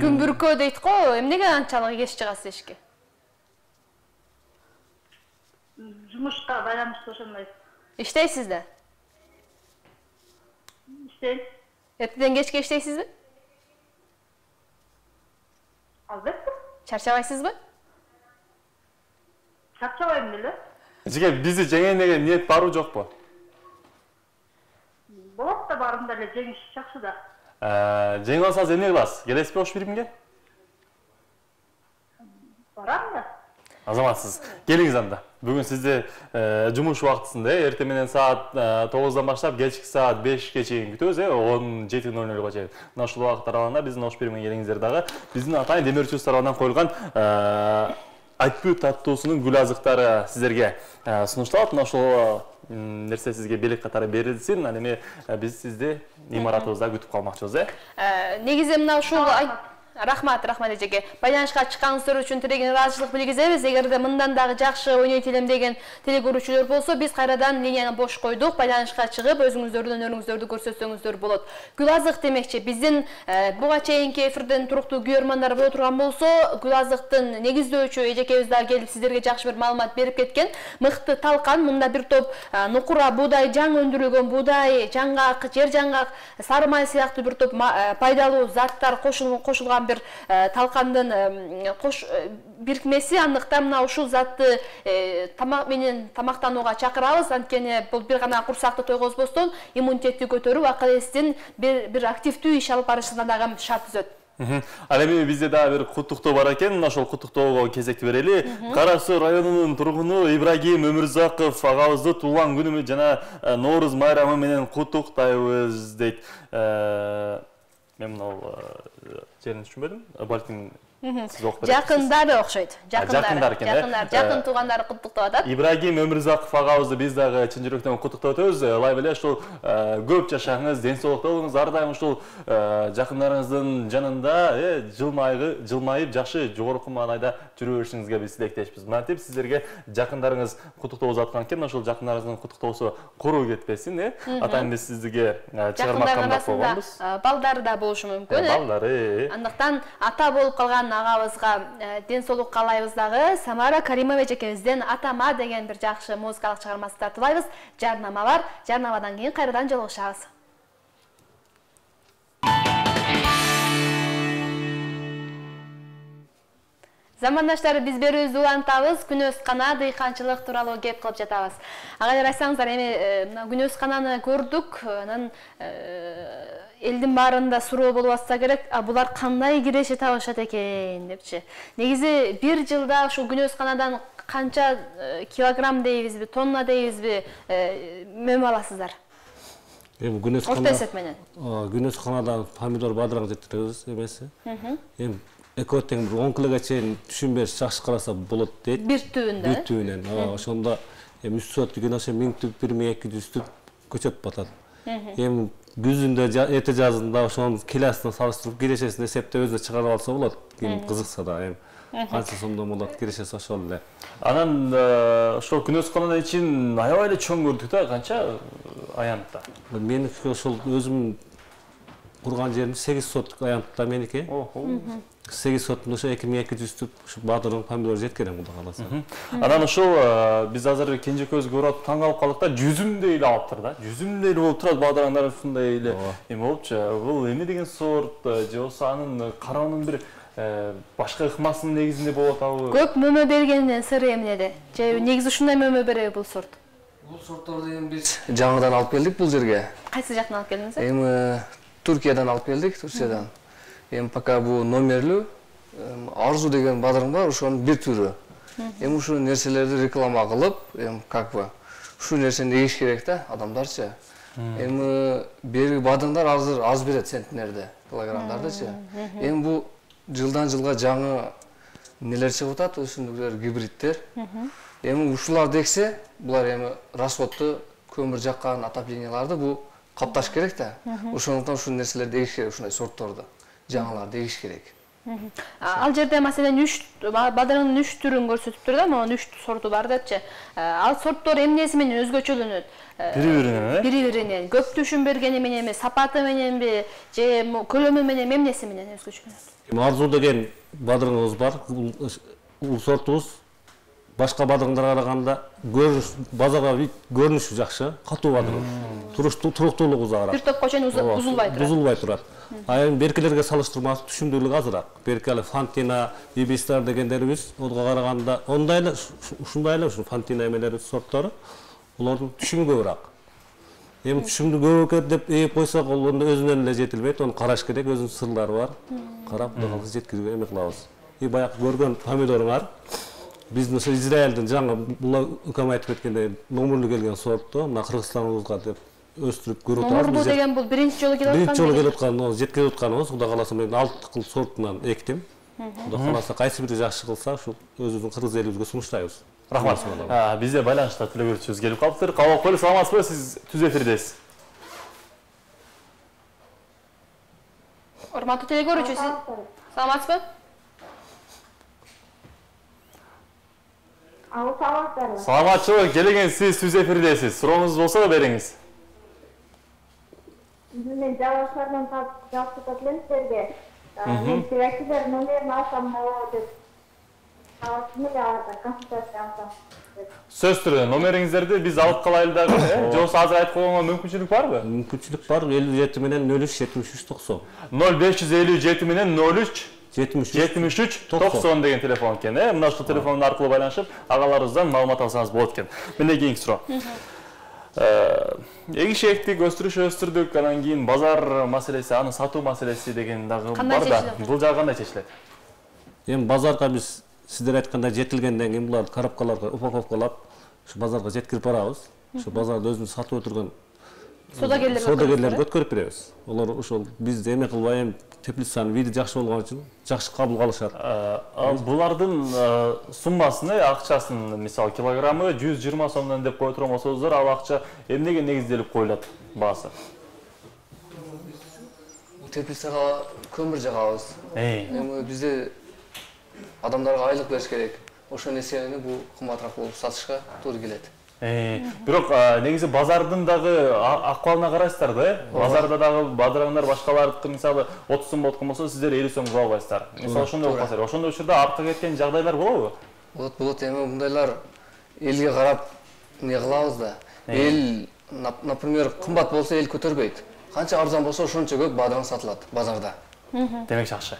Күн бүркөө дейт го, эмнеге анчалык кеч чыгасыз эшикке? Жумушка байланыштуу ошондой. Иштейсиз да? Иштейм. Эртеден кечке иштейсизби? Албетте. Чарчабайсызбы? Чарчабайм деле. Эжеке, бизди жеңейин деген ниет барбы жокпу? Болот да, барымда эле жеңиш жакшы да. Жеңип алсаңыз эмне кыласыз? Келесизби Ош Биримге? Барам да. Азаматсыз. Келиңиз анда. Бүгүн сизди жумуш убактысында, эртең менен саат тогуздан баштап кечки саат бешке чейин күтөбүз, э, он жети ноль нолго чейин. Мына ушул убакыт аралыгында биздин Ош Биримге келиңиздер дагы. Биздин атайын Демир Чүз тарабынан коюлган айтпуу таттуусунун гүл азыктары сиздерге сунушталат. Мына ошол нерсе сизге белек катары берилсин. Ал эми биз сизди имаратыбызда күтүп калмакчыбыз, э? Негизи мына ушул Рахмат, рахмат эжеке. Байланышка чыкканыңыздар үчүн тилеген ыраазычылык билгизебиз. Эгерде мындан дагы жакшы ойнойт элем деген теле көрүүчүлөр болсо, биз кайрадан линияны бош койдук. Байланышка чыгып, өзүңүздөрдүн өнөрүңүздөрдү көрсөтсөңүздөр болот. Гүл азык демекчи, биздин буга чейинки эфирден туруктуу көрөрмандар боло турган болсо, гүл азыктын негиздөөчү эжекебиз дагы келип сиздерге жакшы бир маалымат берип кеткен. Мыкты талкан, мында бир топ нукура буудай, жаң өндүрүлгөн буудай, жаңгак, жер жаңгак, сары май сыяктуу бир топ пайдалуу заттар кошулган бир талкандын кош бирикмеси. Андыктан мына ушул затты тамак менен тамактанууга чакырабыз. Анткени бул бир гана курсакты тойгозбостон иммунитетти көтөрүп, акыл эстин бир активдүү иш алып барышына дагы шарт түзөт. Ал эми бизде дагы бир куттуктоо бар экен, ошол куттуктоого кезекти берели. Кара Суу районунун тургуну Ибрагим Өмүрзаков агабызды туулган күнү жана Нооруз майрамы менен куттуктайбыз дейт. Мен мына жерин түшүнбөдүм. Балким Жакындары окшойт. Жакындары. Жакындар, жакын туугандары куттуктап атат. Ибрагим Өмүрзаков агабызды биз дагы чын жүрөктөн куттуктап өтөбүз. Ылайык эле ушул көп жашаңыз, ден соолукта болуңуз, ар дайым ушул жакындарыңыздын жанында жылмайып, жакшы жогорку маанайда жүрө беришиңизге биз тилектешпиз. Мынтип сиздерге жакындарыңыз куттуктоо жаткан экен, ошол жакындарыңыздын куттуктоосу куруу кетпесин, э? Атайын биз сиздерге чыгармак кандак болгонбуз. Балдары да болушу мүмкүн, э? Балдары. Андыктан ата болуп калган агабызга ден соолук каалайбыз дагы. Самара Каримович экебизден Атама деген бир жакшы музыкалык чыгармасы тартуулайбыз. Жарнама бар. Жарнамадан кийин кайрадан жолугушабыз. Замандаштар, биз берүүбүздү улантабыз. Күнөскана дыйканчылык тууралуу кеп кылып жатабыз. Ага ырайсаңыздар, эми мына күнөскананы көрдүк. Анан элдин баарында суроо болуп атса керек, а булар кандай киреше табышат экен депчи. Негизи бир жылда ушул күнөсканадан канча килограмм дейбизби, тонна дейбизби мөм аласыздар? Эми күнөскана орто эсеп менен. Күнөсканадан помидор, бадырак жеткиребиз эмеси. Эми экөө тең бир он килограмга чейин түшүн бериш жакшы караса болот дейт. Бир түбүндө. Бир түбүнөн. Ошондо эми үч сот деген ошо миң түп, бир миң эки жүз түп көчөп батат. Эми күзүндө, эте жазында ошонун килосуна салыштырып кирешесин эсептеп өзүнө чыгарып алса болот. Ким кызыкса да эми канча сомдон болот кирешеси ошол эле. Анан ошол күнөскананын ичин аябай эле чоң көрдүк да, канча аянтта? Меники ошол өзүм курган жерим сегиз соттук аянтта меники. сегиз соттун ошо эки миң эки жүз түп ушу бадырың, помидор жеткирем Кудай кааласа. Анан ошол биз азыр кенжекөбүз көрүп атып таң калып калдык да, жүзүмдөй эле алыптыр да. Жүзүмдөй эле болуп турат бадыраңдар ушундай эле. Эми болупчу, бул эмне деген сорт же болбосо анын кароонун бир башка ыкмасынын негизинде болуп атабы? Көп мөмө бергенинин сыры эмнеде? Же негизи ушундай мөмө береби бул сорт? Бул сортторду эми биз жаңыдан алып келдик бул жерге. Кайсы жактан алып келдиңиз? Эми Туркиядан алып келдик, Турциядан. Эми пока бул номерлүү Арзу деген бадырың бар, ошонун бир түрү. Эми ушул нерселерди реклама кылып, эми как бы ушул нерсени эгиш керек да адамдарчы. Эми берги бадырыңдар азыр аз берет центнерде, килограммдардычы. Эми бул жылдан жылга жаңы нелер чыгып атат, өсүмдүктөр, гибридтер. Эми ушуларды эксе, булар эми расходду, көмүр жаккан отопленияларды бул капташ керек да. Ошондуктан ушул нерселерди эгиш керек, ушундай сортторду, жаңыларды эгиш керек. Ал жерде маселен үч бадырыңдын үч түрүн көрсөтүптүр да, могу үч сорту бар депчи. Ал сорттор эмнеси менен өзгөчөлөнөт? Бири-биринен, э? Бири-биринен. Көп түшүн бергени мененби, сапаты мененби, же көлөмү менен, эмнеси менен өзгөчөлөнөт? Эми Арзу деген бадырыңыбыз бар. Бул сортубуз башка бадырыңдарга караганда көрүнүш, базарга көрүнүшү жакшы, катуу бадырың. Туруктуулугу узагыраак. Бир топко чейин бузулбай турат. Бузулбай турат. А эми беркилерге салыштырмалуу түшүмдүүлүгү азыраак. Берки эле Фантина, Бибистар дегендерибиз ого караганда ондай эле ушундай эле ушу Фантина эмелери сорттору булардын түшүмү көбүрөөк. Эми түшүмдү көбүрөөк деп ээп койсок, ал өзүнөн эле жетилбейт, аны караш керек, өзүнүн сырлары бар. Карап, Кудай кааласа жеткирүүгө эме кылабыз. И баягы көргөн помидоруңар биздин ошо Израилдин жаңы бул ыкам айтып кеткендей номерлүү келген сортту, мына Кыргызстаныбызга деп өстүрүп көрүп атабыз. Номерлүү деген бул биринчи жолу келип аткан. Биринчи жолу келип аткан, жеткирип атканыбыз, Кудай кааласа мен алты кыл сортунан эктим. Кудай кааласа кайсы бири жакшы кылса, ушул өзүбүздүн кыргыз элибизге сунуштайбыз. Рахмат. Бизде байланышта төлөгөрчүбүз келип калыптыр. Кабыл койлу, саламатсызбы? Сиз түз эфирдесиз. Урматтуу телекөрүүчү, сиз саламатсызбы? Ал саламатсызбы? Саламатчылык, келген сиз түз эфирдесиз. Сурооңуз болсо да бериңиз. Мен жабашкардан жакшы татлем силерге. Мен силерге номерин алсам болот деп. Алсам да консультация алсам. Сөз түрүндө номериңиздерди биз алып калайлы дагы, э? Же болбосо азыр айтып койгонго мүмкүнчүлүк барбы? Мүмкүнчүлүк бар. элүү жети менен нөл үч жетимиш үч токсон. нөл беш жүз элүү жети менен нөл үч жетимиш үч токсон деген телефон экен. Э, мына ушул телефон аркылуу байланышып, агаларыбыздан маалымат алсаңыз болот экен. Мындай кийинки суроо. Эгиш эктик, өстүрүш өстүрдүк, анан кийин базар маселеси, аны сатуу маселеси деген дагы бар да. Бул жагы кандай чечилет? Эми базарга биз сиздер айткандай жетилгенден кийин буларды коробкаларга упаковкалап, ушу базарга жеткирип барабыз. Ушу базарда өзүнүн сатып отурган содагерлерге өткөрүп беребиз. Олар ошол бизди эме кылбай, эми теплицанын види жакшы болгон үчүн жакшы кабыл алышат. Булардын суммасын, акчасын, мисалы килограммы жүз жыйырма сомдон деп коюп турган болсоңуздар, ал акча эмнеге негизделип коюлат баасы? Теплицага көмүр жагабыз. Эми бизде адамдарга айлык бериш керек. Ошонун эсебинен бул кымбатыраак болуп сатышка туура келет. Бирок негизи базардын дагы акыбалына карайсыздар да, э? Базарда дагы бадыраңдар башкалардыкы мисалы отуз сом болуп болсо, сиздер элүү сом кыла албайсыздар. Мисалы ошондой болуп калса, ошондой учурда артка кеткен жагдайлар болобу? Болот, болот. Эми мындайлар элге карап эмне кылабыз да. Эл, например, кымбат болсо эл көтөрбөйт. Канча арзан болсо ошончо көп бадыран сатылат базарда. Демек жакшы.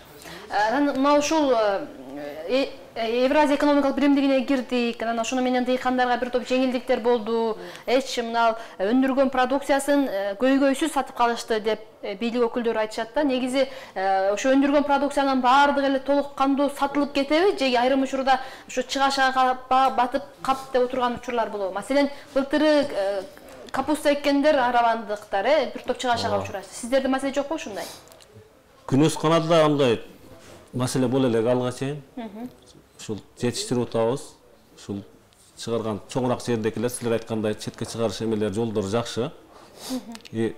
Анан мына ушул Евразия экономикалык биримдигине кирдик, анан ошону менен дыйкандарга бир топ жеңилдиктер болду. Эч мына өндүргөн продукциясын көйгөйсүз сатып калышты деп бийлик өкүлдөрү айтышат да. Негизи ошо өндүргөн продукциянын баардыгы эле толук кандуу сатылып кетеби же айрым учурда ошо чыгашага батып кап деп отурган учурлар болобу? Маселен, былтыры капуста эккендер аравандыктар, э, бир топ чыгашага учурашты. Сиздерде маселе жокпу ушундай? Күнөс каналда андай маселе боло элек алга чейин. Ушул жетиштирип атабыз. Ушул чыгарган чоңураак жердекилер силер айткандай четке чыгарыш эмелер жолдору жакшы. И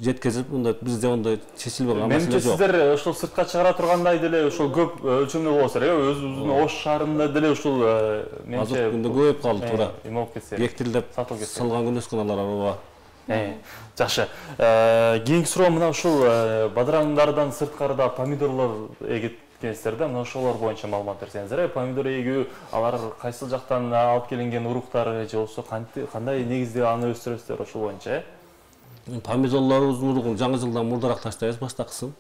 жеткезип, мындай бизде ондай чечилбей калган маселе жок. Менимче сиздер ушул сыртка чыгара тургандай деле ушул көп өлчөмдүү болосуз, э? Өзүбүздүн Ош шаарында деле ушул менимче күндө көбөйүп калды туура. Эме болуп кетсе. Гектилдеп салган күнөс каналар бар. Жакшы. Кийинки суроо мына ушул бадыраңдардан сырткарыда помидорлор эгиткенсиздер да, мына ошолор боюнча маалымат берсеңиздер. Помидор эгүү алар кайсыл жактан алып келинген уруктары же болсо кандай негизде аны өстүрөсүздөр ошол боюнча, э? Помидорлорубуздун уругун жаңы жылдан мурдараак таштайбыз, баштакысын.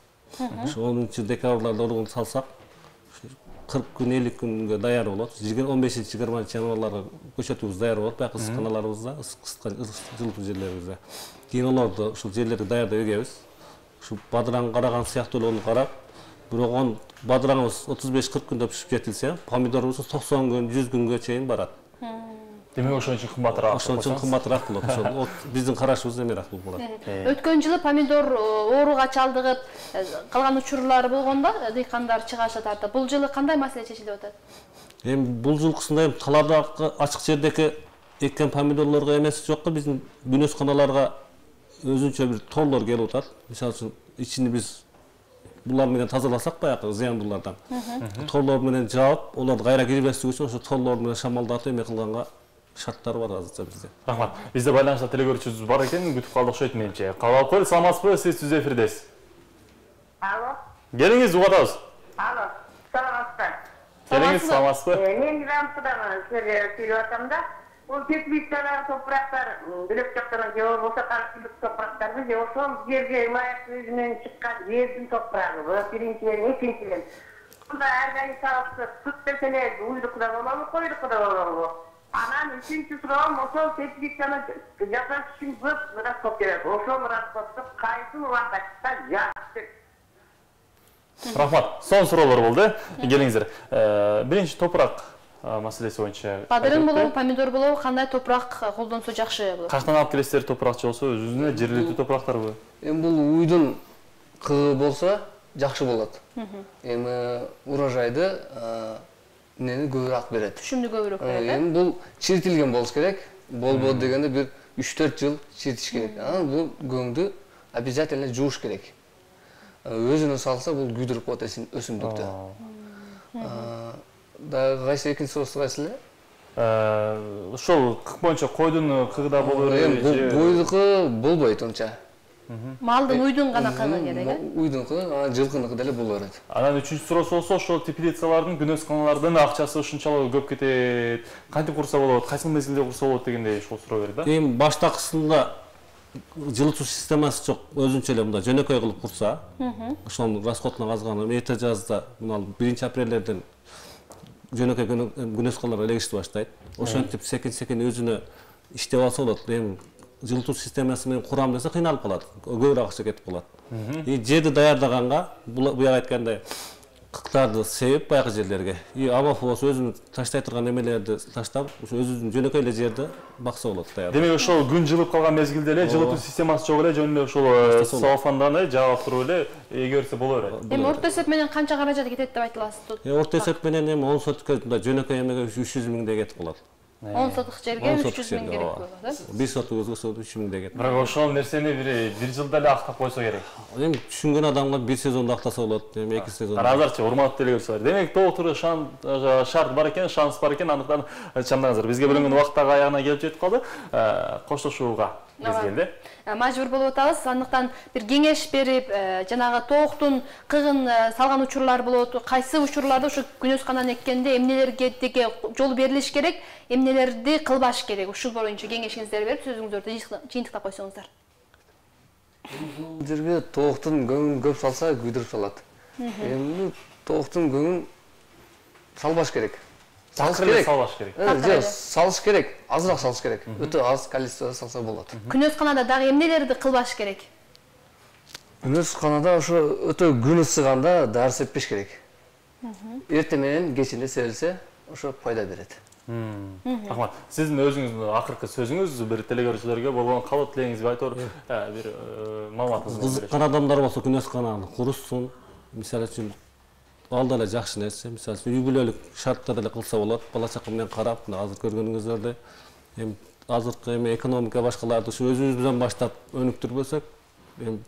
Ошо онунчу декабрларда уругун салсак, кырк күн, элүү күнгө даяр болот. он бешинчи жыйырманчы январларга көчөтүбүз даяр болот, баягы ысык каналарыбызда, ысык жылытуу жерлерибизде. Кийин олорду ушул жерлерди даярдап эгебиз. Ушу бадыраң караган сыяктуу эле карап, бирок он бадыраңыбыз отуз беш кырк күндө пишип жетилсе, помидорубуз токсон күн, жүз күнгө чейин барат. Демек ошон үчүн кымбатыраак. Ошон үчүн кымбатыраак болот. Ошол биздин карашыбыз эмерээк болот. Өткөн жылы помидор ооруга чалдыгып калган учурлары болгондо дыйкандар чыгаша тартып, бул жылы кандай маселе чечилип атат? Эми бул жылкысында талаадагы ачык жердеки эккен помидорлорго эмеси жокко биздин күнөс каналарга өзүнчө бир торлор келип атат. Мисалы үчүн ичини биз булар менен тазаласак баягы зыяндуулардан. Торлор менен жаап, оларды кайра кирбестик үчүн ошо торлор менен шамалдатып эме кылганга шарттар бар азырча бизде. Рахмат. Бизде байланышта телегөрүүчүбүз бар экен, күтүп калдык окшойт менимче. Кабыл алып коелу, саламатсызбы? Сиз түз эфирдесиз. Алло. Келиңиз, угатабыз. Алло. Саламатсыздар. Келиңиз, саламатсызбы? Мен Рамсыдан силерге сүйлөп атам да, бул теплицалар, топурактар, бөлөк жактан же болбосо каршылык топурактарбы, же ошол жерге ылайык өзүнөн чыккан жердин топурагы, бул биринчиден, экинчиден. Бунда органикалык сүт берселер, уйдукта болобу, койдукта болобу? Анан үчүнчү суроом, ошол теплицаны жасаш үчүн көп расход керек. Ошол расходду кайсы убакытта жакшы? Рахмат. Son суроолор болду. Келиңиздер. Биринчи топурак маселеси боюнча. Бадырын болобу, помидор болобу, кандай топурак колдонсо жакшы болот? Качтан алып келесиздер топуракчы болсо, өзүнө жергиликтүү топурактарбы? Эми бул уйдун кыгы болсо жакшы болот. Эми урожайды нени көбүрөөк берет. Түшүмдү көбүрөөк берет. Эми бул чиритилген болуш керек. Болбоду дегенде бир үч төрт жыл чиритиш керек. Анан бул көңдү обязательно жууш керек. Өзүнө салса бул күйдүрүп коет өсүмдүктү. Да кайсы экинчи суроосу кайсы эле? Ошол кык боюнча койдун кыгыда болобу? Эми койдуку болбойт онча. Малдын уйдун гана кыгы керек, э? Уйдунку, анан жылкыныкы деле боло берет. Анан үчүнчү суроосу болсо, ошол теплицалардын, күнөс каналардын акчасы ушунчалык көп кетет. Кантип курса болот, кайсы мезгилде курса болот дегендей ушул суроо берди да. Эми баштакысында жылытуу системасы жок, өзүнчө эле мындай жөнөкөй кылып курса, ошонун расходуна казган эрте жазда мына биринчи апрелден жөнөкөй күнөскалар элегишти баштайт. Ошентип секин-секин өзүнө иштеп алса болот. Эми жылытуу системасы менен курам десе кыйналып калат. Көбүрөөк акча кетип калат. И жерди даярдаганга буяк айткандай кыктарды себип баягы жерлерге и амофос өзүнүн таштай турган эмелерди таштап, ошо өзүнүн жөнөкөй эле жерди бакса болот даяр. Демек ошол күн жылып калган мезгилде эле жылытуу системасы жок эле жөн эле ошол целлофанданы жаап туруп эле эгерсе боло берет. Эми орто эсеп менен канча каражат кетет деп айта аласыз? Орто эсеп менен эми он соткө жөнөкөй эмеге үч жүз миңдей кетип калат. он сотук жерге үч жүз миң керек болот, э? бир сотук өзгөсө үч миңдей кетет. Бирок ошол нерсени бир бир жылда эле актап койсо керек. Эми түшүнгөн адамга бир сезондо актаса болот, эми эки сезон. Азырчы урматтуу телегөрүүчүлөр, демек толтур шарт бар экен, шанс бар экен, андыктан чамдаңыздар. Бизге бөлүнгөн убакыт дагы аягына келип жетип калды. Коштошууга мезгилде. Мажбур болуп атабыз. Андыктан бир кеңеш берип, жанагы тооктун кыгын салган учурлар болот. Кайсы учурларда ушу күнөсканан эккенде эмнелерге деге жол берилиш керек, эмнелерди кылбаш керек. Ушул боюнча кеңешиңиздерди берип, сөзүңүздөрдү жыйынтыктап койсоңуздар. Жерге тооктун көңүн көп салса күйдүрүп салат. Эми тооктун көңүн салбаш керек. Салыш керек. Салбаш керек. Жок, салыш керек. Азыраак салыш керек. Өтө аз количествода салса болот. Күнөсканада дагы эмнелерди кылбаш керек? Күнөсканада ошо өтө күн ысыганда дары сеппеш керек. Эртең менен кечинде себилсе, ошо пайда берет. Рахмат. Сиздин өзүңүздүн акыркы сөзүңүз бир телегөрүүчүлөргө болгон кабыл тилегиңизди айтып бир маалыматыңызды бериңиз. Кызыккан адамдар болсо күнөскананы курушсун. Мисалы үчүн ал деле жакшы нерсе. Мисалы үй бүлөлүк шартта деле кылса болот. Бала чака менен карап, мына азыр көргөнүңүздөрдөй эми азыркы эми экономика башкаларды ушу өзүбүздөн баштап өнүктүрбөсөк, эми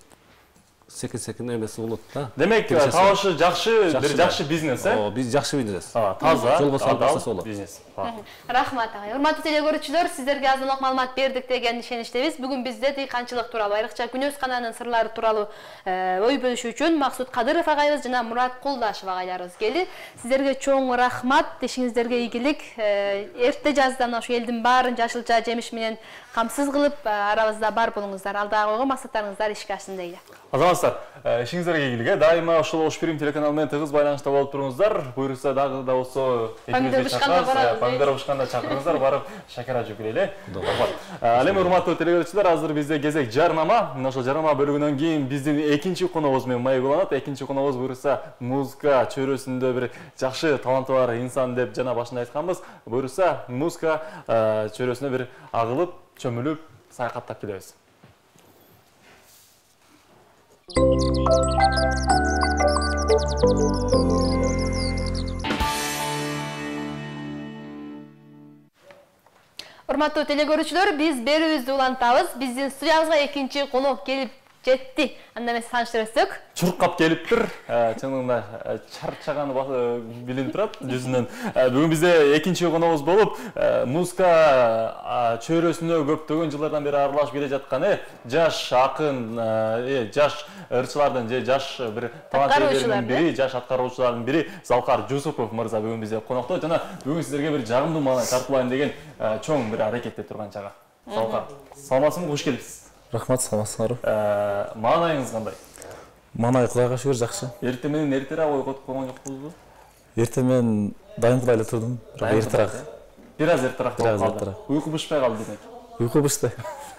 секин-секин эмеси болот да. Демек, табышы жакшы, бир жакшы бизнес, э? Ооба, биз жакшы бизнес. Таза, жолго салып баштаса болот. Бизнес. Рахмат ага. Урматтуу телегөрүүчүлөр, сиздерге азыраак маалымат бердик деген ишеничтебиз. Бүгүн бизде дыйканчылык тууралуу, айрыкча күнөскананын сырлары тууралуу ой бөлүшүү үчүн Максут Кадыров агайыбыз жана Мурат Кулдашев агайларыбыз келди. Сиздерге чоң рахмат, ишиңиздерге ийгилик. Эрте жаздан ошо элдин баарын жашылча жемиш менен камсыз кылып, арабызда бар болуңуздар. Алдыга койгон максаттарыңыздар ишке ашсын дейли. Азаматтар, ишиңиздерге ийгилик. Дайыма ошол Ош Прим телеканалы менен тыгыз байланышта болуп туруңуздар. Буйруса дагы да болсо помидор бышканда барабыз. Помидор бышканда чакырыңыздар, барып шакара жеп келели. Ал эми урматтуу телегөрүүчүлөр, азыр бизде кезек жарнама. Мына ошол жарнама бөлүгүнөн кийин биздин экинчи коногубуз менен маегуланат. Экинчи коногубуз буйруса музыка чөйрөсүндө бир жакшы таланты бар инсан деп жана башында айтканбыз. Буйруса музыка чөйрөсүнө бир агылып, чөмүлүп, саякаттап келебиз. Урматтуу телегөрүүчүлөр, биз берүүбүздү улантабыз. Биздин студиябызга экинчи конок келип жетти. Анда эмес тааныштырсак, чуркап келиптир. Чынында чарчаганы билинип турат жүзүнөн. Бүгүн бизде экинчи коногубуз болуп, музыка чөйрөсүнө көптөгөн жылдардан бери аралашып келе жаткан жаш акын, жаш ырчылардын же жаш бир таланттардын бири, жаш аткаруучулардын бири Залкар Жусупов мырза бүгүн бизде конокто. Жана бүгүн сиздерге бир жагымдуу маалымат тартуулайын деген чоң бир аракетте турган чагы. Залкар, саламатсызбы, кош келипсиз. Рахмат, саламатсыздарбы. Маанайыңыз кандай? Маанай Кудайга шүгүр жакшы. Эртең менен эртерээк ойготуп койгон жокпузбу? Эртең менен дайымкыдай эле турдум, бирок эртерээк. Бир аз эртерээк болуп калды. Уйку бышпай калды демек. Уйку бышты.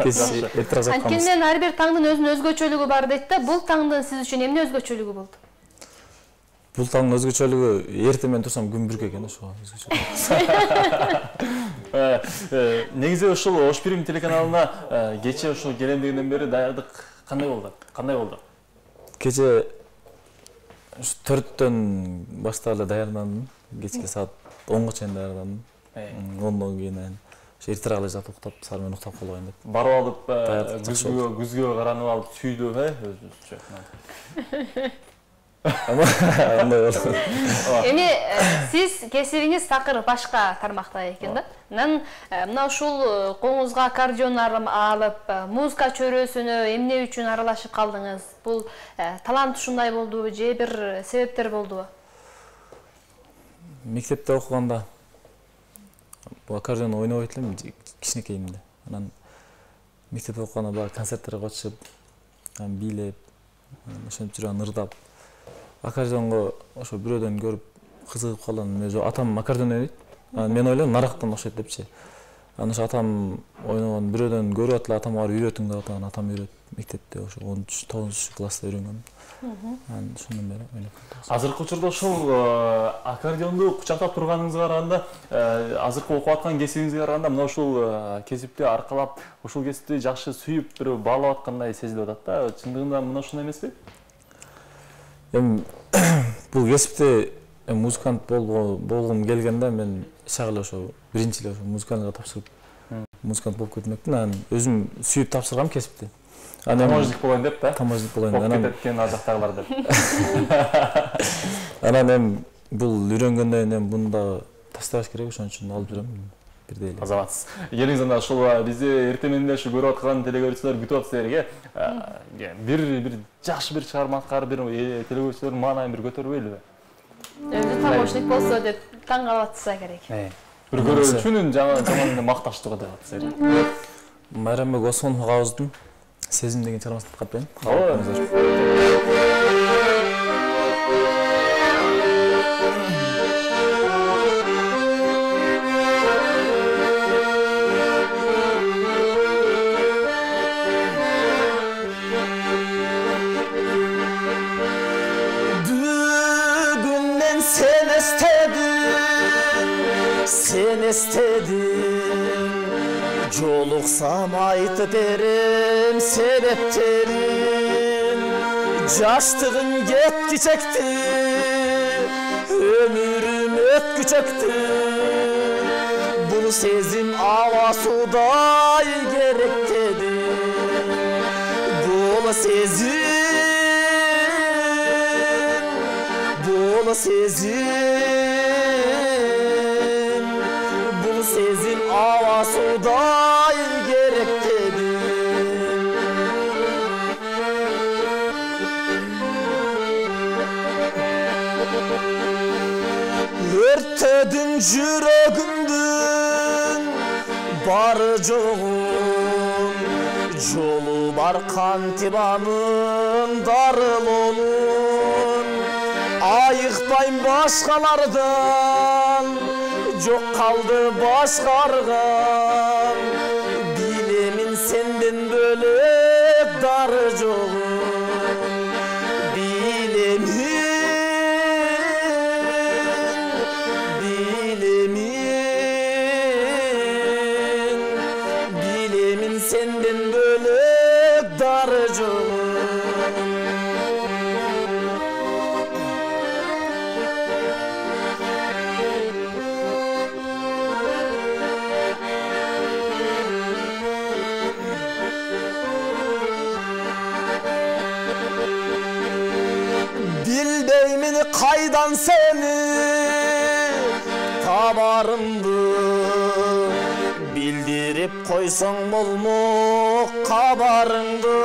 Кеч эртерээк жатканбыз. Анткени менен ар бир таңдын өзүнүн өзгөчөлүгү бар дейт да. Бул таңдын сиз үчүн эмне өзгөчөлүгү болду? Бул таңдын өзгөчөлүгү эртең менен турсам күн бүрк экен, ошо өзгөчөлүгү. Негизи ушул Ош Прим телеканалына кече ушул келемдигинден бери даярдык кандай болду? Кандай болду? Кече төрттөн баштап эле даярдандым. Кечке саат онго чейин даярдандым. ондон кийин эртерээк эле жатып уктап, сары менен уктап калбайын деп. Барып алып, күзгө күзгө каранып алып сүйдүп, э, өзүбүзчө. Эми сиз кесибиңиз такыр башка тармакта экен да. Анан мына ушул коңузга аккордеон алып, музыка чөйрөсүнө эмне үчүн аралашып калдыңыз? Бул талант ушундай болдубу же бир себептер болдубу? Мектепте окуганда бул аккордеон ойнобойт элем кичинекейимде. Анан мектеп окуганда баягы концерттерге катышып, бийлеп, ошентип жүргөн ырдап. Аккордеонго ошо бирөөдөн көрүп кызыгып калдым. Өзү атам аккордеон ойнойт. Мен ойлойм нарактан окшойт депчи. Анан ошо атам ойногон бирөөдөн көрүп атып атам барып үйрөтүң деп атаган, атам үйрөтүп мектепте ошо он үч тогузунчу класста үйрөнгөм. Анан ошондон бери ойноп калдым. Азыркы учурда ошол аккордеонду кучактап турганыңызга караганда, азыркы окуп аткан кесибиңизге караганда мына ушул кесипти аркалап, ушул кесипти жакшы сүйүп, бир баалап аткандай сезилип атат да. Чындыгында мына ушундай эмеспи? Эми бул кесипте музыкант болгум келгенде мен чак эле ошо биринчи эле ошо музыкантка тапшырып музыкант болуп кетмекмин. Анан өзүм сүйүп тапшыргам кесипти. Таможник болоюн деп да? Таможник болоюн. Анан кеткен ажактагылар деп. Анан эми бул үйрөнгөндөн кийин эми буну дагы таштабаш керек, ошон үчүн алып жүрөм. Бирдей эле. Азабатсыз. Келиңиз анда ушул бизди эртең менен ушу көрүп аткан телекөрүүчүлөр күтүп атат силерге. Бир бир жакшы бир чыгарма аткарып, бир телекөрүүчүлөрдүн маанайын бир көтөрбөйлүбү? Өзү таможник болсо деп таң калып атса керек. Бир көрүүчүнүн жаман макташтыгы деп атса. Майрамбек Осмонов агабыздын Сезим деген чыгармасын тыңдап берейин. Кабыл Sen istedin, joluksam aytıp berim sebeplerin. Yaştığın getki çekti, ömürüm ötkü çekti. Bunu sezim avasuday gerek dedi. Bunu sezim, bunu sezim. Sezim avasuday gerek dedi. Örtedin yüreğimdin barı joğun, jolu bar kantibanın darıl olun. Ayıqtayım başkalardan, çok kaldı başkargan. Bilemin senden bölük darı joğun. Bilemin, bilemin, bilemin senden bölük darı joğun. Kaydan seni tabarımdı, bildirip koysan bolmuk kabarındı.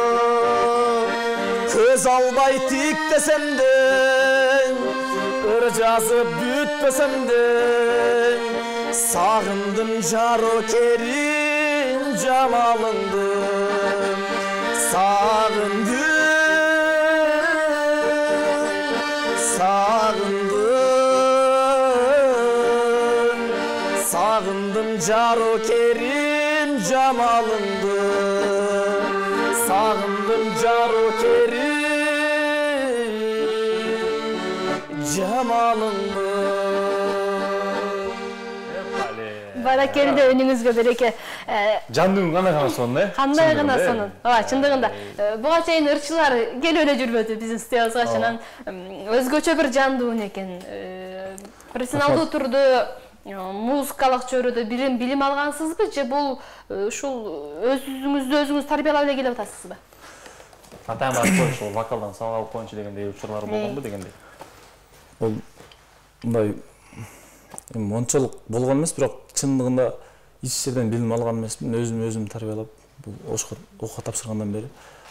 Köz albay tik desem de, ır жазып bütmesem de, sağındım jaro kerin jamalındı. Sağındım, sağındım, sağındım jaro kerim jamalındı. Sağındım jaro kerim jamalındı. Баракелде өнүңүзгө береке. Жандын гана гана сонун, э? Кандай гана сонун. Ооба, чындыгында. Буга чейин ырчылар келип эле жүрбөдү биздин студиябызга, анан өзгөчө бир жандуу экен. Профессионалдуу турду музыкалык чөйрөдө билим билим алгансызбы же бул ушул өзүңүздү өзүңүз тарбиялап эле келип атасызбы? Атам айтып ушул вокалдан сабак алып коюнчу дегендей учурлар болгонбу дегендей. Бул мындай мончолук болгон эмес, бирок чындыгында эч жерден билим алган эмесмин. Өзүм өзүм тарбиялап, бул окууга тапшыргандан бери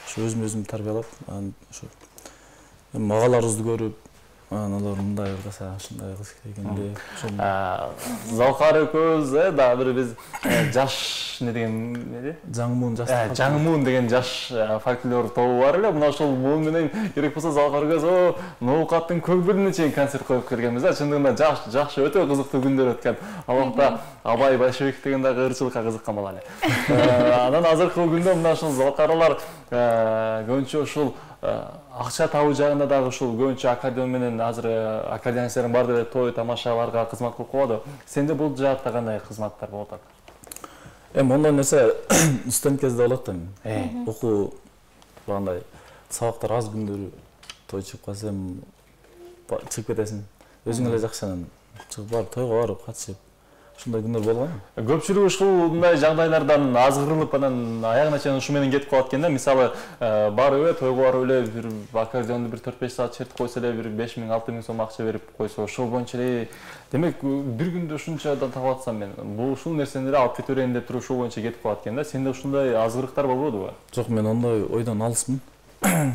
ошо өзүм өзүм тарбиялап, анан ошо агаларыбызды көрүп, анан алар мындай ырдаса ушундай кылыш керек экен деп ошол Залкар экөөбүз э дагы бир биз жаш не деген эмне жаңмун жаш жаңмун деген жаш фольклор тобу бар эле. Мына ошол муун менен керек болсо Залкар экөөбүз ноокаттын көкбүрүнө чейин концерт коюп келгенбиз да. Чындыгында жаш жакшы өтө кызыктуу күндөр өткөн. Ал убакта Абай Большевик деген дагы ырчылыкка кызыккан бала эле. Анан азыркы күндө мына ушул Залкарлар көбүнчө ушул акча табуу жагында дагы ушул көбүнчө аккордеон менен азыр аккордеонистердин бар деле той тамашаларга кызмат кылып коёду. Сенде бул жаатта кандай кызматтар болуп атат? Эми ондой нерсе студент кезде болот да. Окуу багындай сабактар аз күндөрү той чыгып калса эми чыгып кетесиң. Өзүң эле жакшы анан чыгып барып тойго барып катышып ушундай күндөр болгон. Көпчүлүк ушундай жагдайлардан азгырылып анан аягына чейин ушу менен кетип калат экен да. Мисалы, барып эле тойго барып эле бир аккордеонду бир төрт беш саат чертип койсо эле бир беш миң алты миң сом акча берип койсо, ошол боюнча эле демек бир күндө ушунчадан таап атсам мен, бул ушул нерсени эле алып кете берейин деп туруп ушул боюнча кетип калат экен да. Сенде ушундай азгырыктар болбодубу? Жок, мен ондой ойдон алысмын.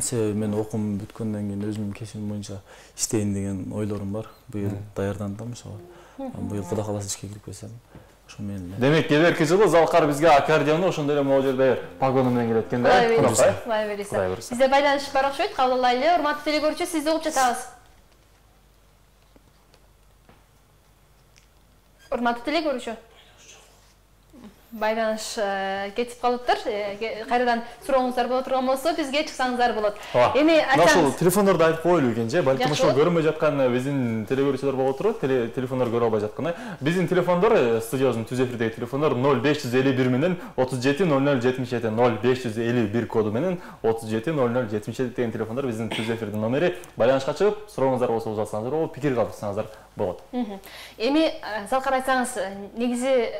Себеби мен окуум бүткөндөн кийин өзүмдүн кесибим боюнча иштейин деген ойлорум бар. Быйыл даярдандым ошого. Быйыл Кудай кааласа ишке кирип кетсем, ошо менен. Демек, келерки жылы Залкар бизге аккордеону ошондой эле могу жерде погону менен келет экен да. Кудай берсе. Бизде байланыш бар окшойт, кабыл алайлы. Урматтуу телекөрүүчү, сизди угуп жатабыз. Урматтуу телекөрүүчү. Байланыш кетип калыптыр. Кайрадан сурооңуздар боло турган болсо, бизге чыксаңыздар болот. Эми айтсаңыз, телефондорду айтып коелу экен же, балким ошол көрүнбөй жаткан биздин телекөрүүчүлөр боло туруп, телефондор көрө албай жаткан. Биздин телефондор, студиябыздын түз эфирдеги телефондор ноль беш жүз элүү бир менен отуз жети ноль ноль жетимиш жети, ноль беш жүз элүү бир коду менен отуз жети ноль ноль жетимиш жети деген телефондор биздин түз эфирдин номери. Байланышка чыгып, сурооңуздар болсо узатсаңыздар болот, пикир калтырсаңыздар болот. Эми Залкар айтсаңыз, негизи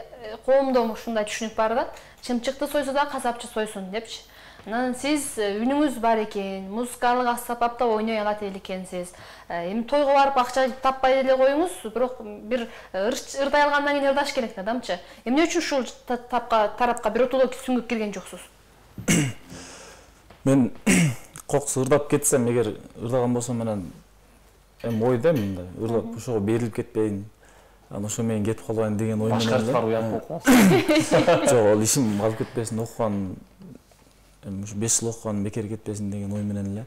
коомдо ушундай түшүнүк бар да, чымчыкты сойсо да касапчы сойсун депчи. Анан сиз үнүңүз бар экен, музыкалык аспапта ойной алат экенсиз. Эми тойго барып акча таппай эле коюңуз, бирок бир ырдай алгандан кийин ырдаш керек да, дамчы. Эмне үчүн ушул тапка тарапка биротоло сүңгүп кирген жоксуз? Мен кокс ырдап кетсем, эгер ырдаган болсом менен эми ойдом мындай, ырдап ошого берилип кетпейин. Анан ошо менен кетип калбайын деген ой менен. Башкарттар уят болуп калат. Жок, ал ишим калып кетпесин, окуган эми ушу беш жыл окуган бекер кетпесин деген ой менен эле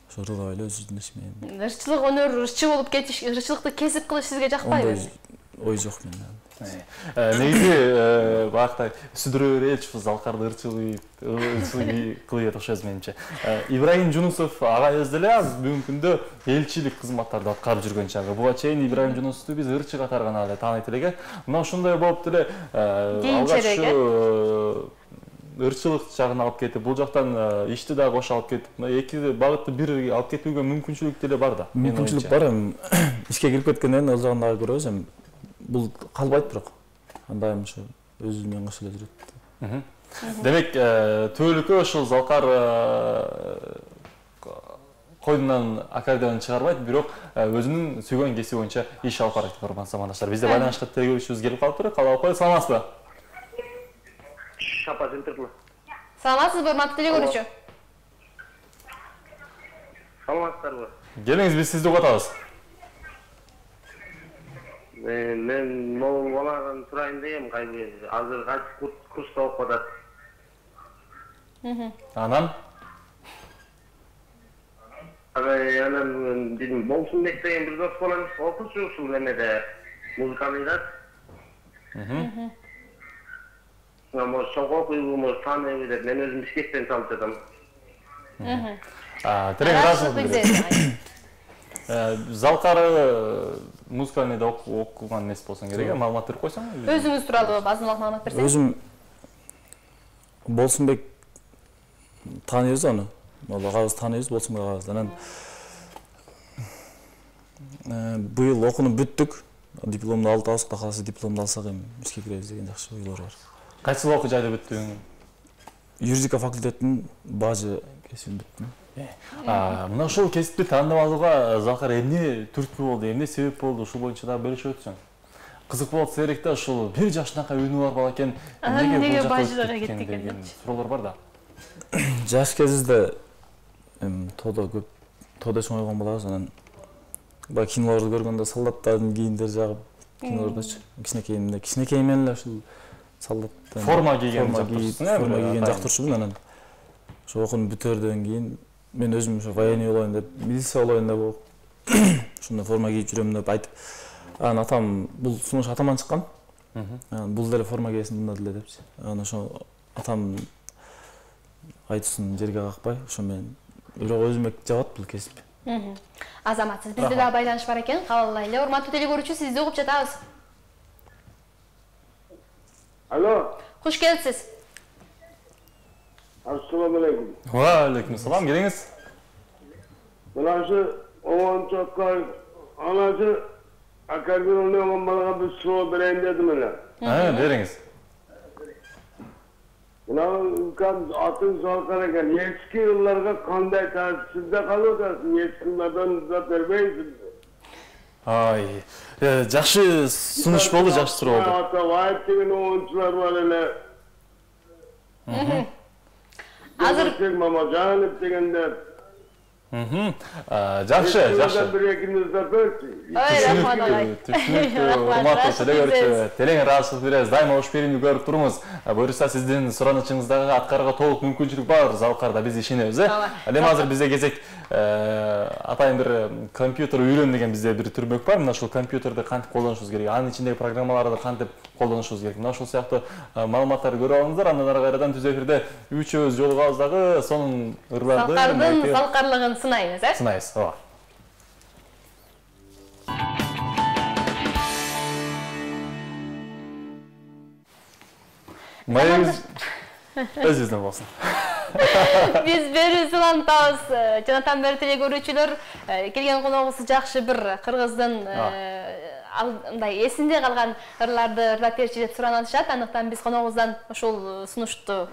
ошо ырдабай эле өзүмдүн иш менен. Ырчылык өнөр, ырчы болуп кетиш, ырчылыкты кесип кылыш сизге жакпайбы? Ой жок менде. Негизи бакта сүдүрө береличи Залкарды ырчылык ырчылык кылып окшойбуз менимче. Ибраим Жунусов агайыбыз деле аз бүгүнкү күндө элчилик кызматтарды аткарып жүргөн чагы. Буга чейин Ибраим Жунусовду биз ырчы катары гана эле тааныйт элек. Мына ошондой болуп деле алгач ырчылык жагын алып кетип, бул жактан ишти дагы кошо алып кетип, эки багытты бир алып кетүүгө мүмкүнчүлүк деле бар да. Мүмкүнчүлүк бар, эми ишке кирип кеткенден кийин ал жагын дагы көрөбүз, эми бул калбайт бирок. Андайым ошо өзү менен кошо эле жүрөт. Демек, түбөлүккө ошол Залкар койдунан аккордеон чыгарбайт, бирок өзүнүн сүйгөн кесиби боюнча иш алып барат, урматтуу замандаштар. Бизде байланышка телекөрүүчүбүз келип калыптыр. Калап коюп, саламатсызбы? Шапа Центрли. Саламатсызбы, урматтуу телекөрүүчү? Саламатсыздарбы? Келиңиз, биз сизди угатабыз. Мен могул баладан сурайын дегем, азыр кайсы курста окуп атат. Анан? Анан дедим, Болсунбек деген бир дос балам окуучу ушул эмеде музыкалыйда. Может, чоң окуйбу, может, тааныбы деп мен өзүм бишкектен чалып жатам. Терең ыраазычылык. Залкар музыкалыйда окуган эмес болсоң керек, маалымат берип койсоң. Өзүңүз тууралуу азыраак маалымат берсеңиз. Өзүм Болсунбек тааныйбыз аны. Ал агабыз тааныйбыз, Болсунбек агабыз. Анан быйыл окууну бүттүк. Дипломду алдыбыз, Кудай кааласа дипломду алсак эми ишке киребиз деген жакшы ойлор бар. Кайсы окуу жайда бүттүң? Юридика факультетинин бажы кесибин бүттүм. Мына ошол кесипти тандап алууга Залкар эмне түрткү болду, эмне себеп болду, ушул боюнча дагы бөлүшүп өтсөң. Кызык болот серик да, ушул бир жашынакай үнү бар бала экен, эмнеге бажыга кетти деген суроолор бар да. Жаш кезибизде эми тоодо көп тоодо чоңойгон балабыз, анан Баягы кинолорду көргөндө солдаттардын кийимдери жагып, кинолордочу. Кичинекейимде, кичинекейиммен эле ушул солдаттан форма кийген жактырчусуң, форма кийген жактырчумун. Анан ошо окууну бүтөрдөн кийин мен өзүм ошо военный болоюн деп, милиция болоюн деп ушундай форма кийип жүрөм деп айтып, анан атам бул сунуш атаман чыккан. Анан бул деле форма кийсин мында деле депчи. Анан ошо атам айтсын жерге какпай, ошо мен бирок өзүмө жабат бул кесип. Азамат, сиз бизде да байланыш бар экен, кабыл эле. Урматтуу телекөрүүчү, сизди угуп жатабыз. Алло. Куш келипсиз. Ассаламу алейкум. Ва алейкум салам, келиңиз. Мынасы онунчу акка анасы аккордеон ойногон балага бир суроо берейин дедим эле. Ha, бериңиз. Мына үлкөн атын Залкар экен. Эски жылдарга кандай таасирде калып атасың? Эски жылдардан да бербейсиң. Ай, жакшы сунуш болду, жакшы суроо болду. Ата вайт деген оюнчулар бар эле. Азыр Мамажанов дегендер. Жакшы, жакшы. Бир экинде берчи. Ой, рахмат агай. Урматтуу телекөрүүчү, телең ыраазычылык беребиз. Дайыма уш берүүнү көрүп туруңуз. Буюрса сиздин суранычыңыздагы аткарууга толук мүмкүнчүлүк бар. Залкарда биз ишенебиз, э? Эми азыр бизде кезек атайын бир компьютер үйрөн деген бизде бир түрмөк бар. Мына ушул компьютерди кантип колдонушубуз керек, анын ичиндеги программаларды кантип колдонушубуз керек. Мына ушул сыяктуу маалыматтарды көрүп алыңыздар. Андан ары кайрадан түз эфирде үчөөбүз жолугабыз дагы сонун ырларды, Залкардын залкарлыгын сынайбыз, э? Сынайбыз, ооба. Майыңыз өзүбүздөн болсун. Биз берүүбүздү улантабыз. Жанатан бери телекөрүүчүлөр, келген коногубуз жакшы бир кыргыздын мындай эсинде калган ырларды ырлап берчи деп суранып атышат. Андыктан биз коногубуздан ушул сунушту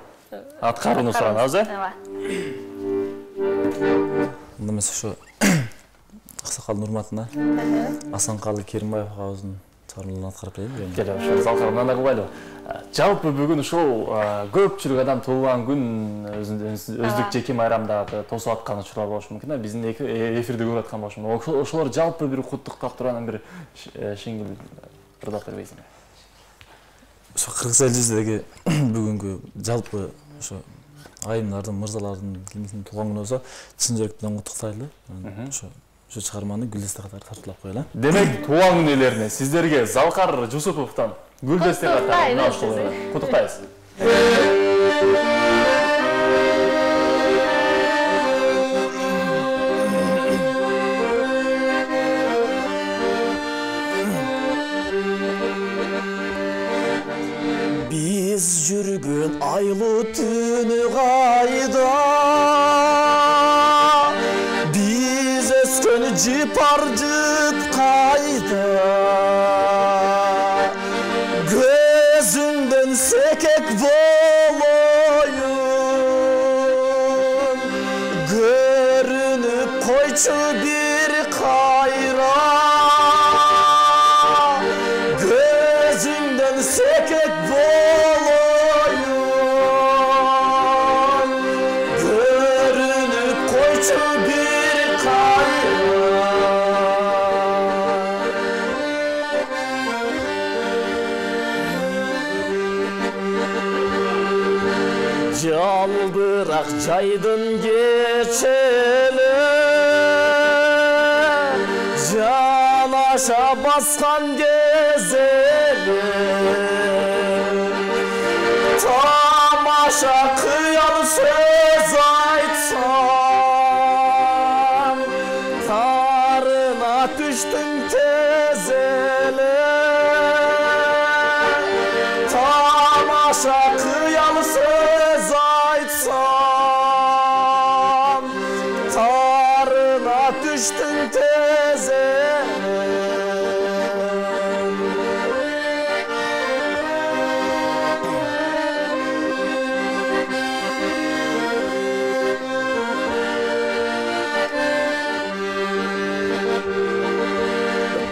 аткарууну суранабыз, э? Ооба. Мында эмес ошо аксакалдын урматына Асанкалы Керимбаев агабыздын чыгармаларын аткарып берейин. Келе ошо Залкардан да кубайлы. Жалпы бүгүн ушул көпчүлүк адам туулган күн өздүк жеке майрамдарды тосуп аткан учурлар болушу мүмкүн. Биздин эфирди көрүп аткан болушу мүмкүн. Ошолор жалпы бир куттуктап турган бир жеңил ырдап бербейсиңби? Ошо кыргыз эл жүзүндөгү бүгүнкү жалпы ошо айымдардын, мырзалардын кимдин туулган күнү болсо, чын жүрөктөн куттуктайлы. Ошо ошо чыгарманы Гүлдесте катары тартуулап коелу. Демек, туулган күн ээлерине сиздерге Залкар Жусуповдон Гүлдесте катары куттуктайбыз. Биз жүргөн айлуу түнү кайда, биз өскөн жыпар жыт кайда, көзүңдөн секек болоюн, көрүнүп койчу бир кайра, көзүңдөн секек болоюн, көрүнүп койчу бир кайра. Жалбырак жайдын кечели, жанаша баскан кезели, тамаша кыял сөз айтсам, тарына түштүң тез эле, тамаша кыял сөз айтсам, тарына түштүң тез эле.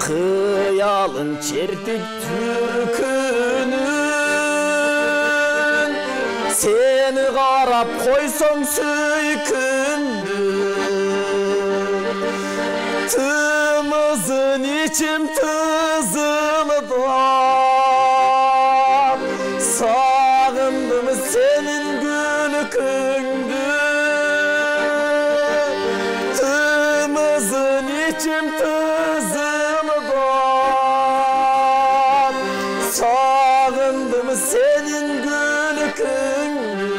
Кыялын чертип түркүнүн, сени карап койсоң сүйкүндү, тымыз içim tızıldı. Sağındım senin gülükündü. Tımızın içim tızıldı. Sağındım senin gülükündü.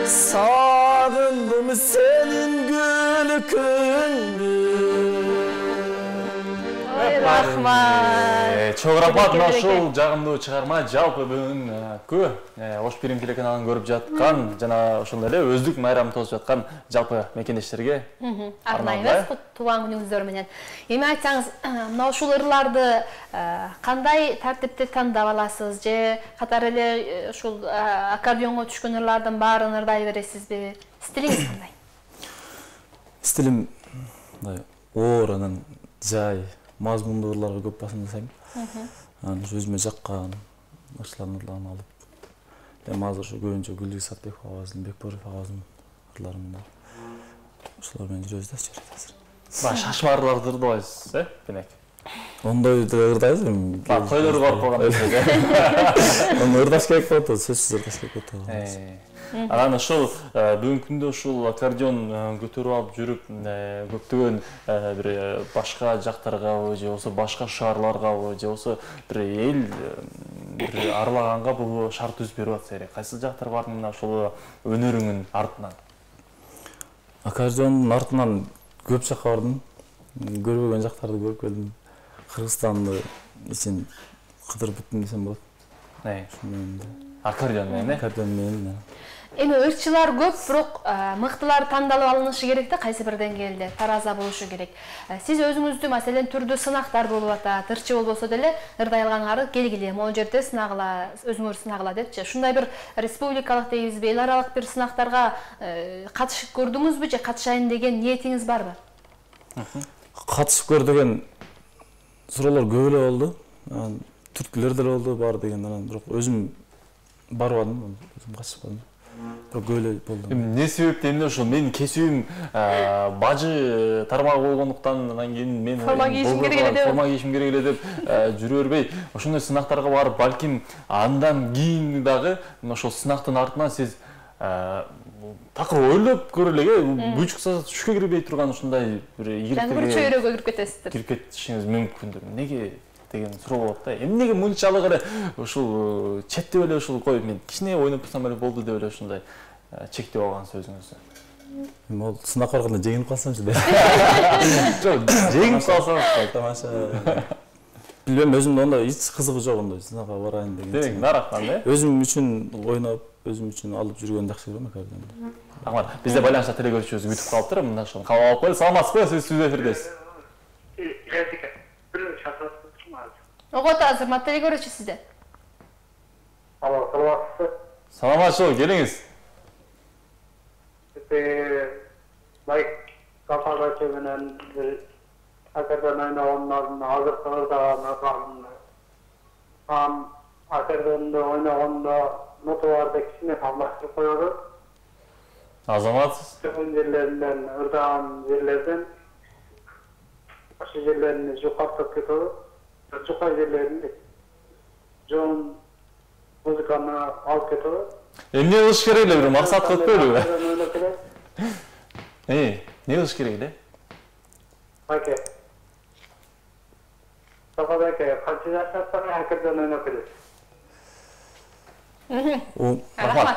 Sağındım senin gülükündü. Рахмат. Çok рахмат мына ушул жагымдуу чыгарма жалпы бүгүн көп Ош Пирим телеканалын көрүп жаткан жана ошондой эле өздүк майрамын тосуп жаткан жалпы мекендештерге арнайбыз туулган күнүңүздөр менен. Эми айтсаңыз, мына ушул ырларды кандай тартипте тандап аласыз же катары эле ушул аккордеонго түшкөн ырлардын баарын ырдай бересизби? Стилиңиз кандай? Стилим мындай оор, анан жай, мазмундуу ырларга көп басым жасайм. Анан өзүмө жаккан ырчылардын ырларын алып, эми азыр ушу көбүнчө Гүлдүз Сатбеков агабыздын, Бекборов агабыздын ырларын бар. Ошолор менен жүрөбүз да чөйрөт азыр. Баягы шашма ырларды ырдабайсыз, э, Бенек? Ондой ырдайбыз эми. Тойлор барып калган кезде. Ону ырдаш керек болот, сөзсүз ырдаш керек болот. Анан ошол бүгүнкү күндө ушул аккордеон көтөрүп алып жүрүп көптөгөн бир башка жактаргабы же болбосо башка шаарларгабы же болбосо бир эл бир арлаганга бул шарт түзүп берип атса керек. Кайсы жактар бар мына ошол өнөрүңүн артынан? Аккордеондун артынан көп жакка бардым. Көрбөгөн жактарды көрүп келдим. Кыргызстанды ичин кыдырып бүттүм десем болот. Аккордеон менен, э? Аккордеон менен. Эми ырчылар көп, бирок мыктылар тандалып алынышы керек да, кайсы бир деңгээлде тараза болушу керек. Сиз өзүңүздү маселен түрдүү сынактар болуп атат, ырчы болбосо деле ырдай алгаңары келгиле, могу жерде сынагыла, өзүңөр сынагыла депчи. Ушундай бир республикалык дейбизби, эл аралык бир сынактарга катышып көрдүңүзбү же катышайын деген ниетиңиз барбы? Катышып көр деген суроолор көп эле болду. Түрткүлөр деле болду, бар деген, анан бирок өзүм барбадым, өзүм катышпадым. Бирок көп эле болду. Эмне себептен эле ошол менин кесибим бажы тармагы болгондуктан, анан кийин мен форма кийишим керек эле деп, форма кийишим керек эле деп жүрө бербей, ошондой сынактарга барып, балким андан кийин дагы ошол сынактын артынан сиз такыр ойлоп көрө элек, бучукса түшкө кирбей турган ушундай бир ийгиликтерге жаңы бир чөйрөгө кирип кетесиздер. Кирип кетишиңиз мүмкүндүр. Неге деген суроо болот да. Эмнеге мынчалык эле ушул четтеп эле ушул коюп мен кичине ойноп турсам эле болду деп эле ушундай чектеп алган сөзүңүздү? Эми ал сынак барганда жеңилип калсамчы деп. Жок, жеңип калсаңыз тамаша. Билбейм, өзүмдө ондай эч кызыгы жок ондай сынакка барайын деген. Демек, нарактан, э? Өзүм үчүн ойноп, өзүм үчүн алып жүргөн жакшы көрөм аккордеонду. Рахмат. Бизде байланышта теле көрүүчүбүз күтүп калыптыр. Мында ошону кабыл алып коелу. Саламатсызбы? Сиз сүздө эфирдесиз. Огот азыр мат теле көрүүчү сизде. Алло, саламатсызбы? Саламатчылык, келиңиз. Лайк кафадачы менен бир аккордеон ойногондордун азыркы ырдаган ам аккордеонду ойногондо ноталарды кичине салмаштырып коёду. Азаматсыз. Жөн жерлеринен ырдаган жерлерден ошол жерлерин жукартып кетип, жука жерлерин жон музыканы алып кетип. Эмне кылыш керек эле, бир максат кылып коелубу? Э, эмне кылыш керек эле? Аке. Сападаке, канча жаштан аккордеон ойноп келесиз? Рахмат.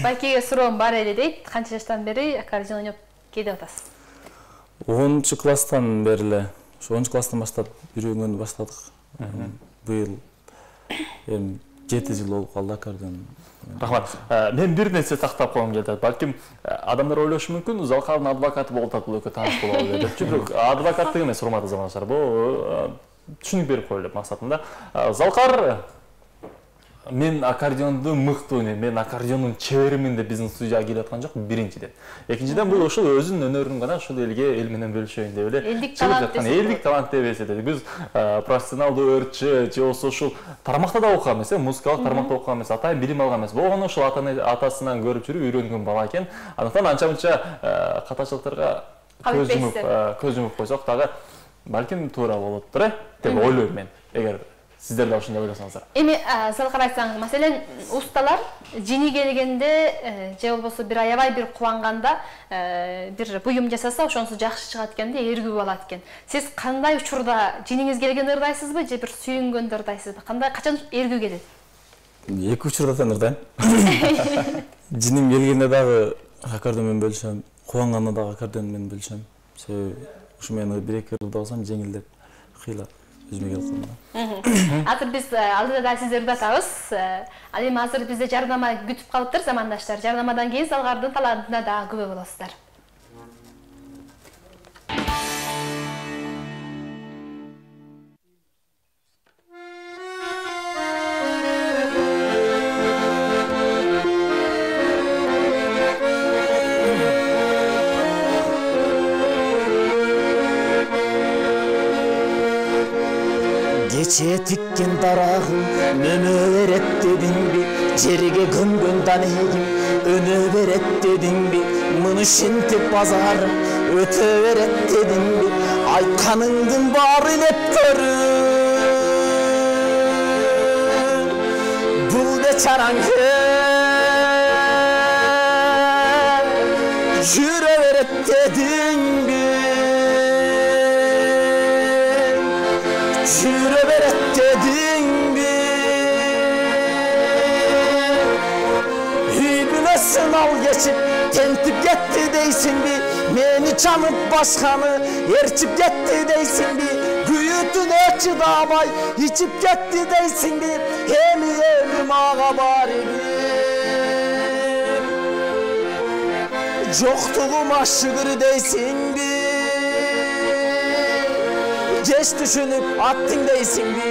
Байкеге суроом бар эле дейт. Канча жаштан бери аккордеон ойноп келип атасыз? онунчу класстан бери эле, ошо онунчу класстан баштап үйрөнгөндү баштадык. Быйыл эми жети жыл болуп калды аккордеон. Рахмат. Мен бир нерсе тактап койгум келет. Балким адамдар ойлошу мүмкүн, Залкардын адвокаты болуп атат, бул экөө тааныш болобу деп. Бирок адвокаттык эмес, урматтуу замандаштар. Бул түшүнүк берип коелу деп максатында. Залкар мен аккордеонду мыкты ойнойм, мен аккордеондун чеберимин деп биздин студияга келип аткан жок, биринчиден. Экинчиден бул ошол өзүнүн өнөрүн гана ошол элге, эл менен бөлүшөйүн деп эле. Элдик талант деп. Элдик талант деп эсептейт. Биз профессионалдуу өрчү же болбосо ушул тармакта да окуган эмес, музыкалык тармакта окуган эмес, атайын билим алган эмес. Болгону ошол атасынан көрүп жүрүп үйрөнгөн бала экен. Андыктан анча-мынча катачылыктарга көз жумуп, көз жумуп койсок дагы балким туура болоттур э деп ойлойм мен, эгер сиздер да ошондой ойлосоңуздар. Эми сал карасаңыз, маселен, усталар жини келгенде же болбосо бир аябай бир кубанганда бир буюм жасаса, ошонусу жакшы чыгат экен да, эргүү алат экен. Сиз кандай учурда жиниңиз келгенде ырдайсызбы же бир сүйүнгөндө ырдайсызбы? Кандай качан эргүү келет? Эки учурда тең ырдайм. Жиним келгенде дагы аккордеон менен бөлүшөм, кубанганда дагы аккордеон менен бөлүшөм. Себеби ушу менен бир эки ырдасам жеңилдеп кыйла өзүмө келип калам. Азыр биз алдыда да сизди ырдатабыз. Ал эми азыр бизде жардама күтүп калыптыр, замандаштар. Жардамадан кийин Салгардын талантына дагы күбө болосуздар. Кече тиккен дарагым өнө берет дедиңби, жерге көмгөн данегим өнө берет дедиңби, муну ишинтип базарым өтө берет дедиңби, айтканыңдын баары деп көрүм. Бул бечараңды жүрө берет дедиңби, жүрө берет дедиңби, үй бүлөсүн ал кечип тентип кетти дейсиңби, мени чанып башканы ээрчип кетти дейсиңби, күйүүтүнө чыдабай ичип кетти дейсиңби, эми эми мага барибир жоктугума шүгүр дейсиңби, кеч түшүнүп аттың дейсиңби,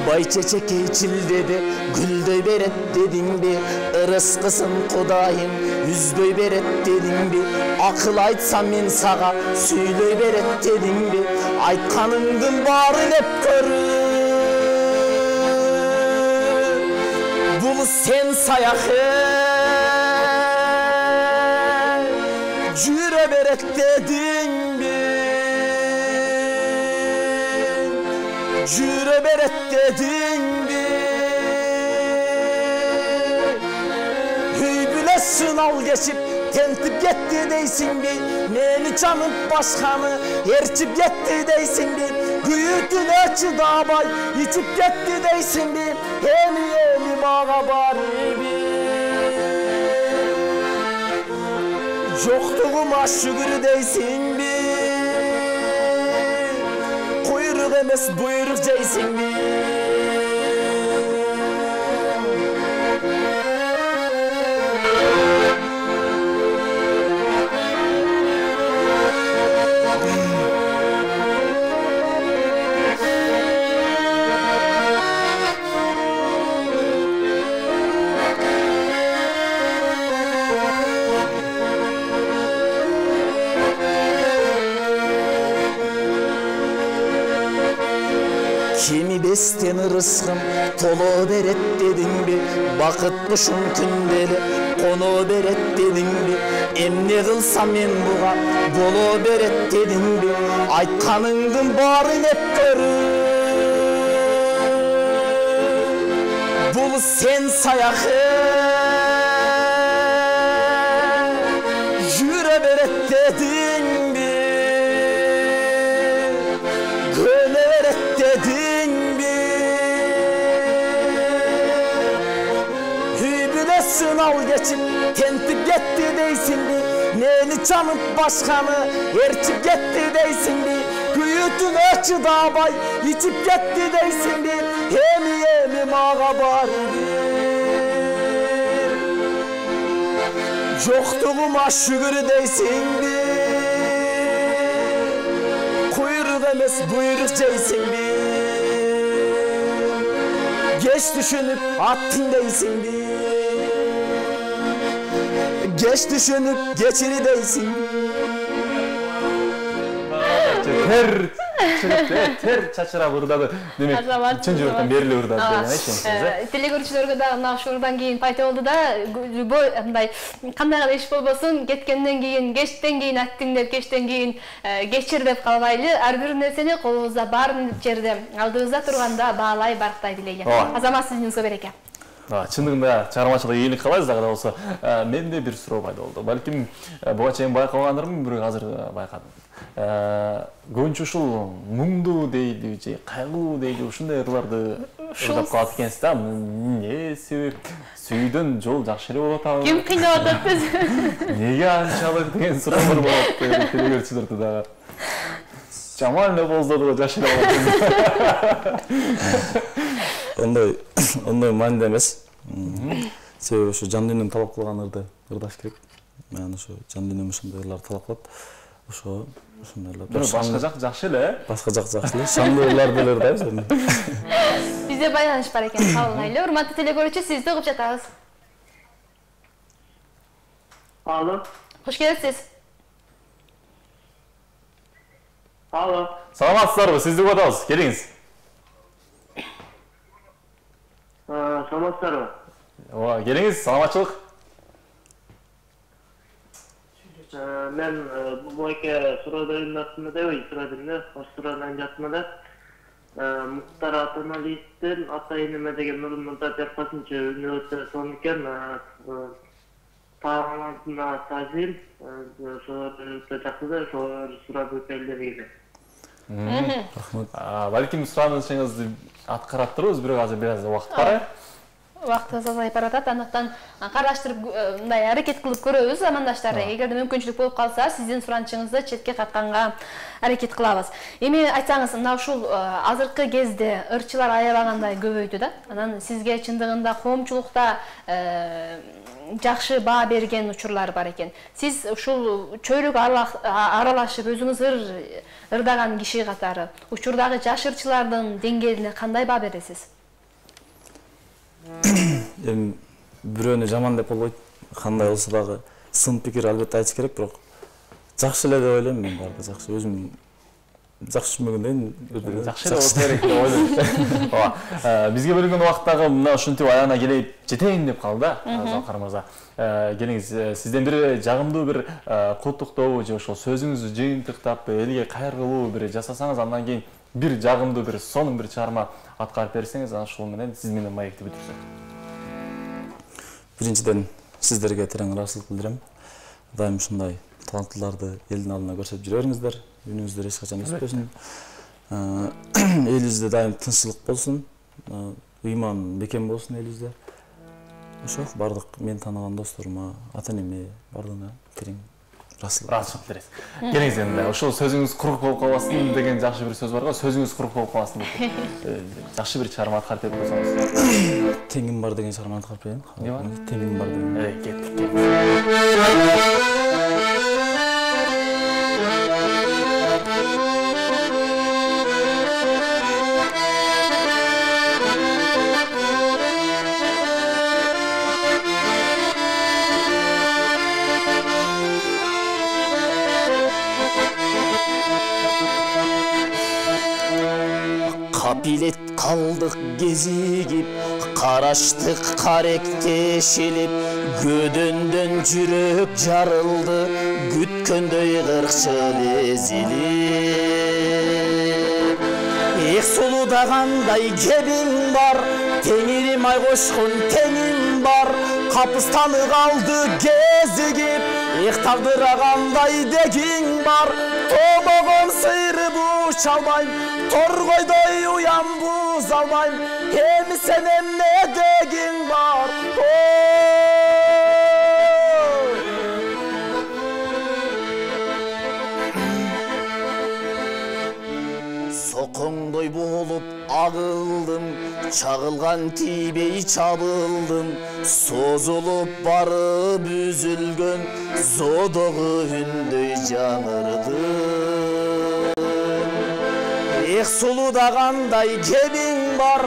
бай чечекей чилдеде гүлдөй берет дедиңби, ырыскысын Кудайым үзбөй берет дедиңби, акыл айтсам мен сага сүйлөй берет дедиңби, айтканыңдын баары деп көрүм. Бул сен саяхы жүрө берет дедиңби, жүрө берет дедиңби, үй бүлөсүн ал кечип тентип кетти дейсиңби, мени чанып башканы ээрчип кетти дейсиңби, күйүүтүнө чыдабай ичип кетти дейсиңби, эми эми мага барибир жоктугума шүгүр дейсиңби, куйрук эмес буйрук жейсиңби. Kimi бестен ырыскым толо берет дедиңби, бакыт кушум күндөлү коно берет дедиңби, эмне кылсам мен буга боло берет дедиңби, айтканыңдын баары деп көрүм. Бул сен саяхы жүрө берет дедиңби, көнө берет дедиңби, үй бүлөсүн ал кечип тентип кетти дейсиңби, мени чанып башканы ээрчип кетти дейсиңби, күйүүтүнө чыдабай ичип кетти дейсиңби, эми эми мага барибир жоктугума шүгүр дейсиңби, куйрук эмес буйрук жейсиңби, кеч түшүнүп аттың дейсиңби, кеч түшүнүп кечири дейсиңби. чыгып тер чачырап ырдады. Демек, чын жүрөктөн бериле ырдады деген эшеңиз. Телегөрүүчүлөргө да мына ушурдан кийин пайда болду да, любой мындай кандай гана иш болбосун, кеткенден кийин, кечтен кийин аттың деп, кечтен кийин кечир деп калбайлы, ар бир нерсени колубузда бар жерде алдыбызда турганда баалай барктай билели. Азамат, сиздин береке. Чындыгында чыгармачылык ийгилик каалайбыз, дагы да болсо. Менде бир суроо пайда болду. Балким буга чейин байкагандырмын, бирок азыр байкадым. Көбүнчө ушул муңдуу дейди же кайгылуу дейди ушундай ырларды ырдап калат экенсиз да. Эмне себеп? Сүйдөн жол жакшы эле болуп атабы? Ким кыйнап атат биз? Неге анчалык деген суроолор болот телегөрүүчүлөрдө дагы. Жаман эле болсо да жакшы эле болот. Ондай ондай маанилүү эмес. Себеби ошо жан дүйнөм талап кылган ырды ырдаш керек. Мен ошо жан дүйнөм ошондой ырларды талап кылат. Ошо ошондой ырлар. Башка жак жакшы эле. Башка жак жакшы эле. Шандуу ырларды эле ырдайбыз. Бизде байланыш бар экен, кабылгайлы. Урматтуу телегөрүүчү, сизди угуп жатабыз. Алло. Хош келипсиз. Алло. Саламатсыздарбы? Сизди угуп атабыз. Келиңиз. Саламатсыздарбы? Ооба, келиңиз, саламатчылык. Мен буйке суроодун артында деп, суроодун да, суроодан жатма да. Муктар Атаналиевдин атайын эме деген мурунда жаппасынча үнү өтө сонун экен. Таалантына тазим, ошо өтө жакшы да, ошо суроо келди. Рахмат. Балким суранышыңызды аткарып турбуз, бирок азыр бир аз убакыт бар. Убактыбыз азайып баратат, андыктан караштырып мындай аракет кылып көрөбүз замандаштар. Эгерде мүмкүнчүлүк болуп калса, сиздин суранышыңызды четке катканга аракет кылабыз. Эми айтсаңыз, мына ушул азыркы кезде ырчылар аябагандай көбөйдү да. Анан сизге чындыгында коомчулукта жакшы баа берген учурлар бар экен. Сиз ушул чөйрөк аралашып өзүңүз ырдаган киши катары учурдагы жаш ырчылардын деңгээлине кандай баа бересиз? Эми бирөөнү жаман деп болбойт. Кандай болсо дагы сын пикир албетте айтыш керек, бирок жакшы эле деп ойлойм мен, баары жакшы. Өзүм жакшы түшүнбөгөндөн жакшы эле болсо керек деп ойлойм. Ооба. Бизге бөлүнгөн убакыттагы мына ушинтип аягына келип жетейин деп калды да, Залкар мырза. Келиңиз, сизден бир жагымдуу бир куттуктоо же ошол сөзүңүздү жыйынтыктап элге кайрылуу бир жасасаңыз, андан кийин бир жагымдуу бир сонун бир чыгарма аткарып берсеңиз, анан ушул менен сиз менен маекти бүтүрсөк. Биринчиден сиздерге терең ыраазычылык билдирем. Дайым ушундай таланттууларды элдин алдына көрсөтүп жүрө бериңиздер. Үнүңүздөр эч качан өспөсүн. Элибизде дайым тынччылык болсун, ыйман бекем болсун элибизде. Ошо бардык мен тааныган досторума, ата-энеме бардыгына терең ыраазычылык бересиз. Келиңиз эми, ошол сөзүңүз курук болуп калбасын деген жакшы бир сөз бар го, сөзүңүз курук болуп калбасын деп. Жакшы бир чыгарма аткарып берип койсоңуз. Теңим бар деген чыгарманы аткарып берейин. Эмне бар? Теңим бар деген. Эй, кеттик, кеттик. Капилет калдык кезигип, караштык каректешилип, көдөндөн жүрөк жарылды, күткөндөй кыркчыл эзилип. Эх сулудагандай кебиң бар, теңирим ай кошкон теңим бар, капыстаны калды кезигип, эх тагдырагандай дегиң бар, тобогон сыйрып уча албайм, торгойдой уям буз албайм, эми сен эмне дегиң бар? Сокоңдой болуп агылдым, чагылган тийбей чабылдым, созулуп барып үзүлгөн зодогу үндөй жаңырдым. Эх сулуда кандай кебиң бар,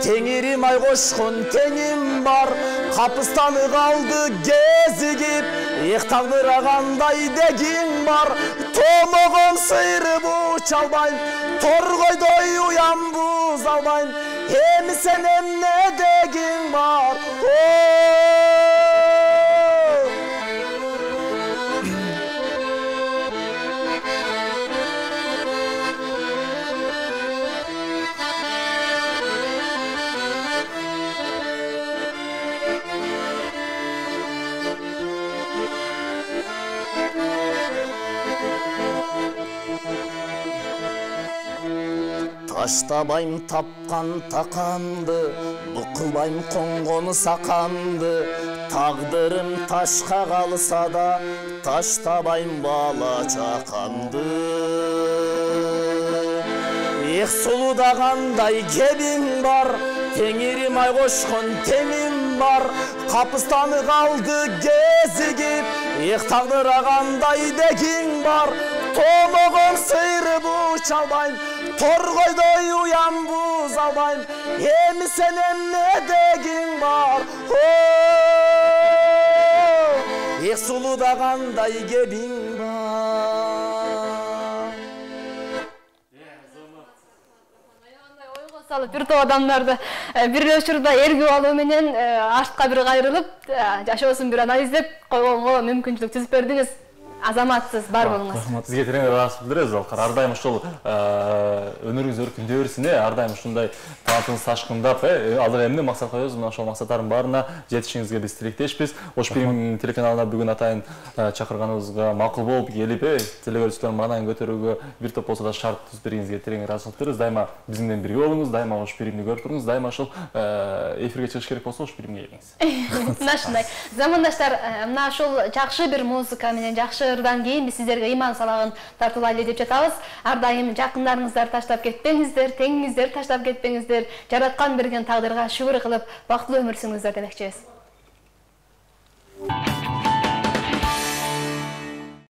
теңирим ай кошкон теңим бар, капыстаны калды кезигип, эх тагдыра кандай дегиң бар, томогон сыйрып уча албайм, торгойдой уям буза албайм, эми сен эмне дегиң бар? Таштабайм тапкан таканды, букулбайм коңгону саканды, тагдырым ташка калса да, таштабайм бала чаканды. Эх сулуда кандай кебиң бар, теңирим ай кошкон теңим бар, капыстаны калды кезигип, эх тагдыра кандай дегиң бар, томогон сыйрып уча албайм, торгойдой уям буза албайм, эми сен эмне дегиң бар? Эх сулуда кандай кебиң бар. Ойго салып бир топ адамдарды бир учурда эргип алуу менен артка бир кайрылып, жашоосун бир анализдеп койгонго мүмкүнчүлүк түзүп бердиңиз. Азаматсыз, бар болуңуз. Сизге терең ыраазычылык билдиребиз, Алкар. Ар дайым ушул өнөрүңүз өркүндөй берсин, ар дайым ушундай талантыңыз ташкындап, азыр эмне максат коебуз, мына ошол максаттардын баарына жетишиңизге биз тилектешпиз. Ош Фильм телеканалына бүгүн атайын чакырганыбызга макул болуп келип, телекөрүүчүлөрдүн маанайын көтөрүүгө бир топ болсо да шарт түзүп бергениңизге терең ыраазычылык билдиребиз. Дайыма биз менен бирге болуңуз, дайыма Ош Фильмди көрүп туруңуз, дайыма ошол эфирге чыгыш керек болсо Ош Фильмге келиңиз. Мына ушундай. Замандаштар, мына ушул жакшы бир музыка менен жакшы ырдан кийин биз сиздерге иман салагын тартуулайлы деп жатабыз. Ар дайым жакындарыңыздар таштап кетпеңиздер, теңиңиздер таштап кетпеңиздер, жараткан берген тагдырга шүгүр кылып, бактылуу өмүр сүрүңүздөр демекчибиз.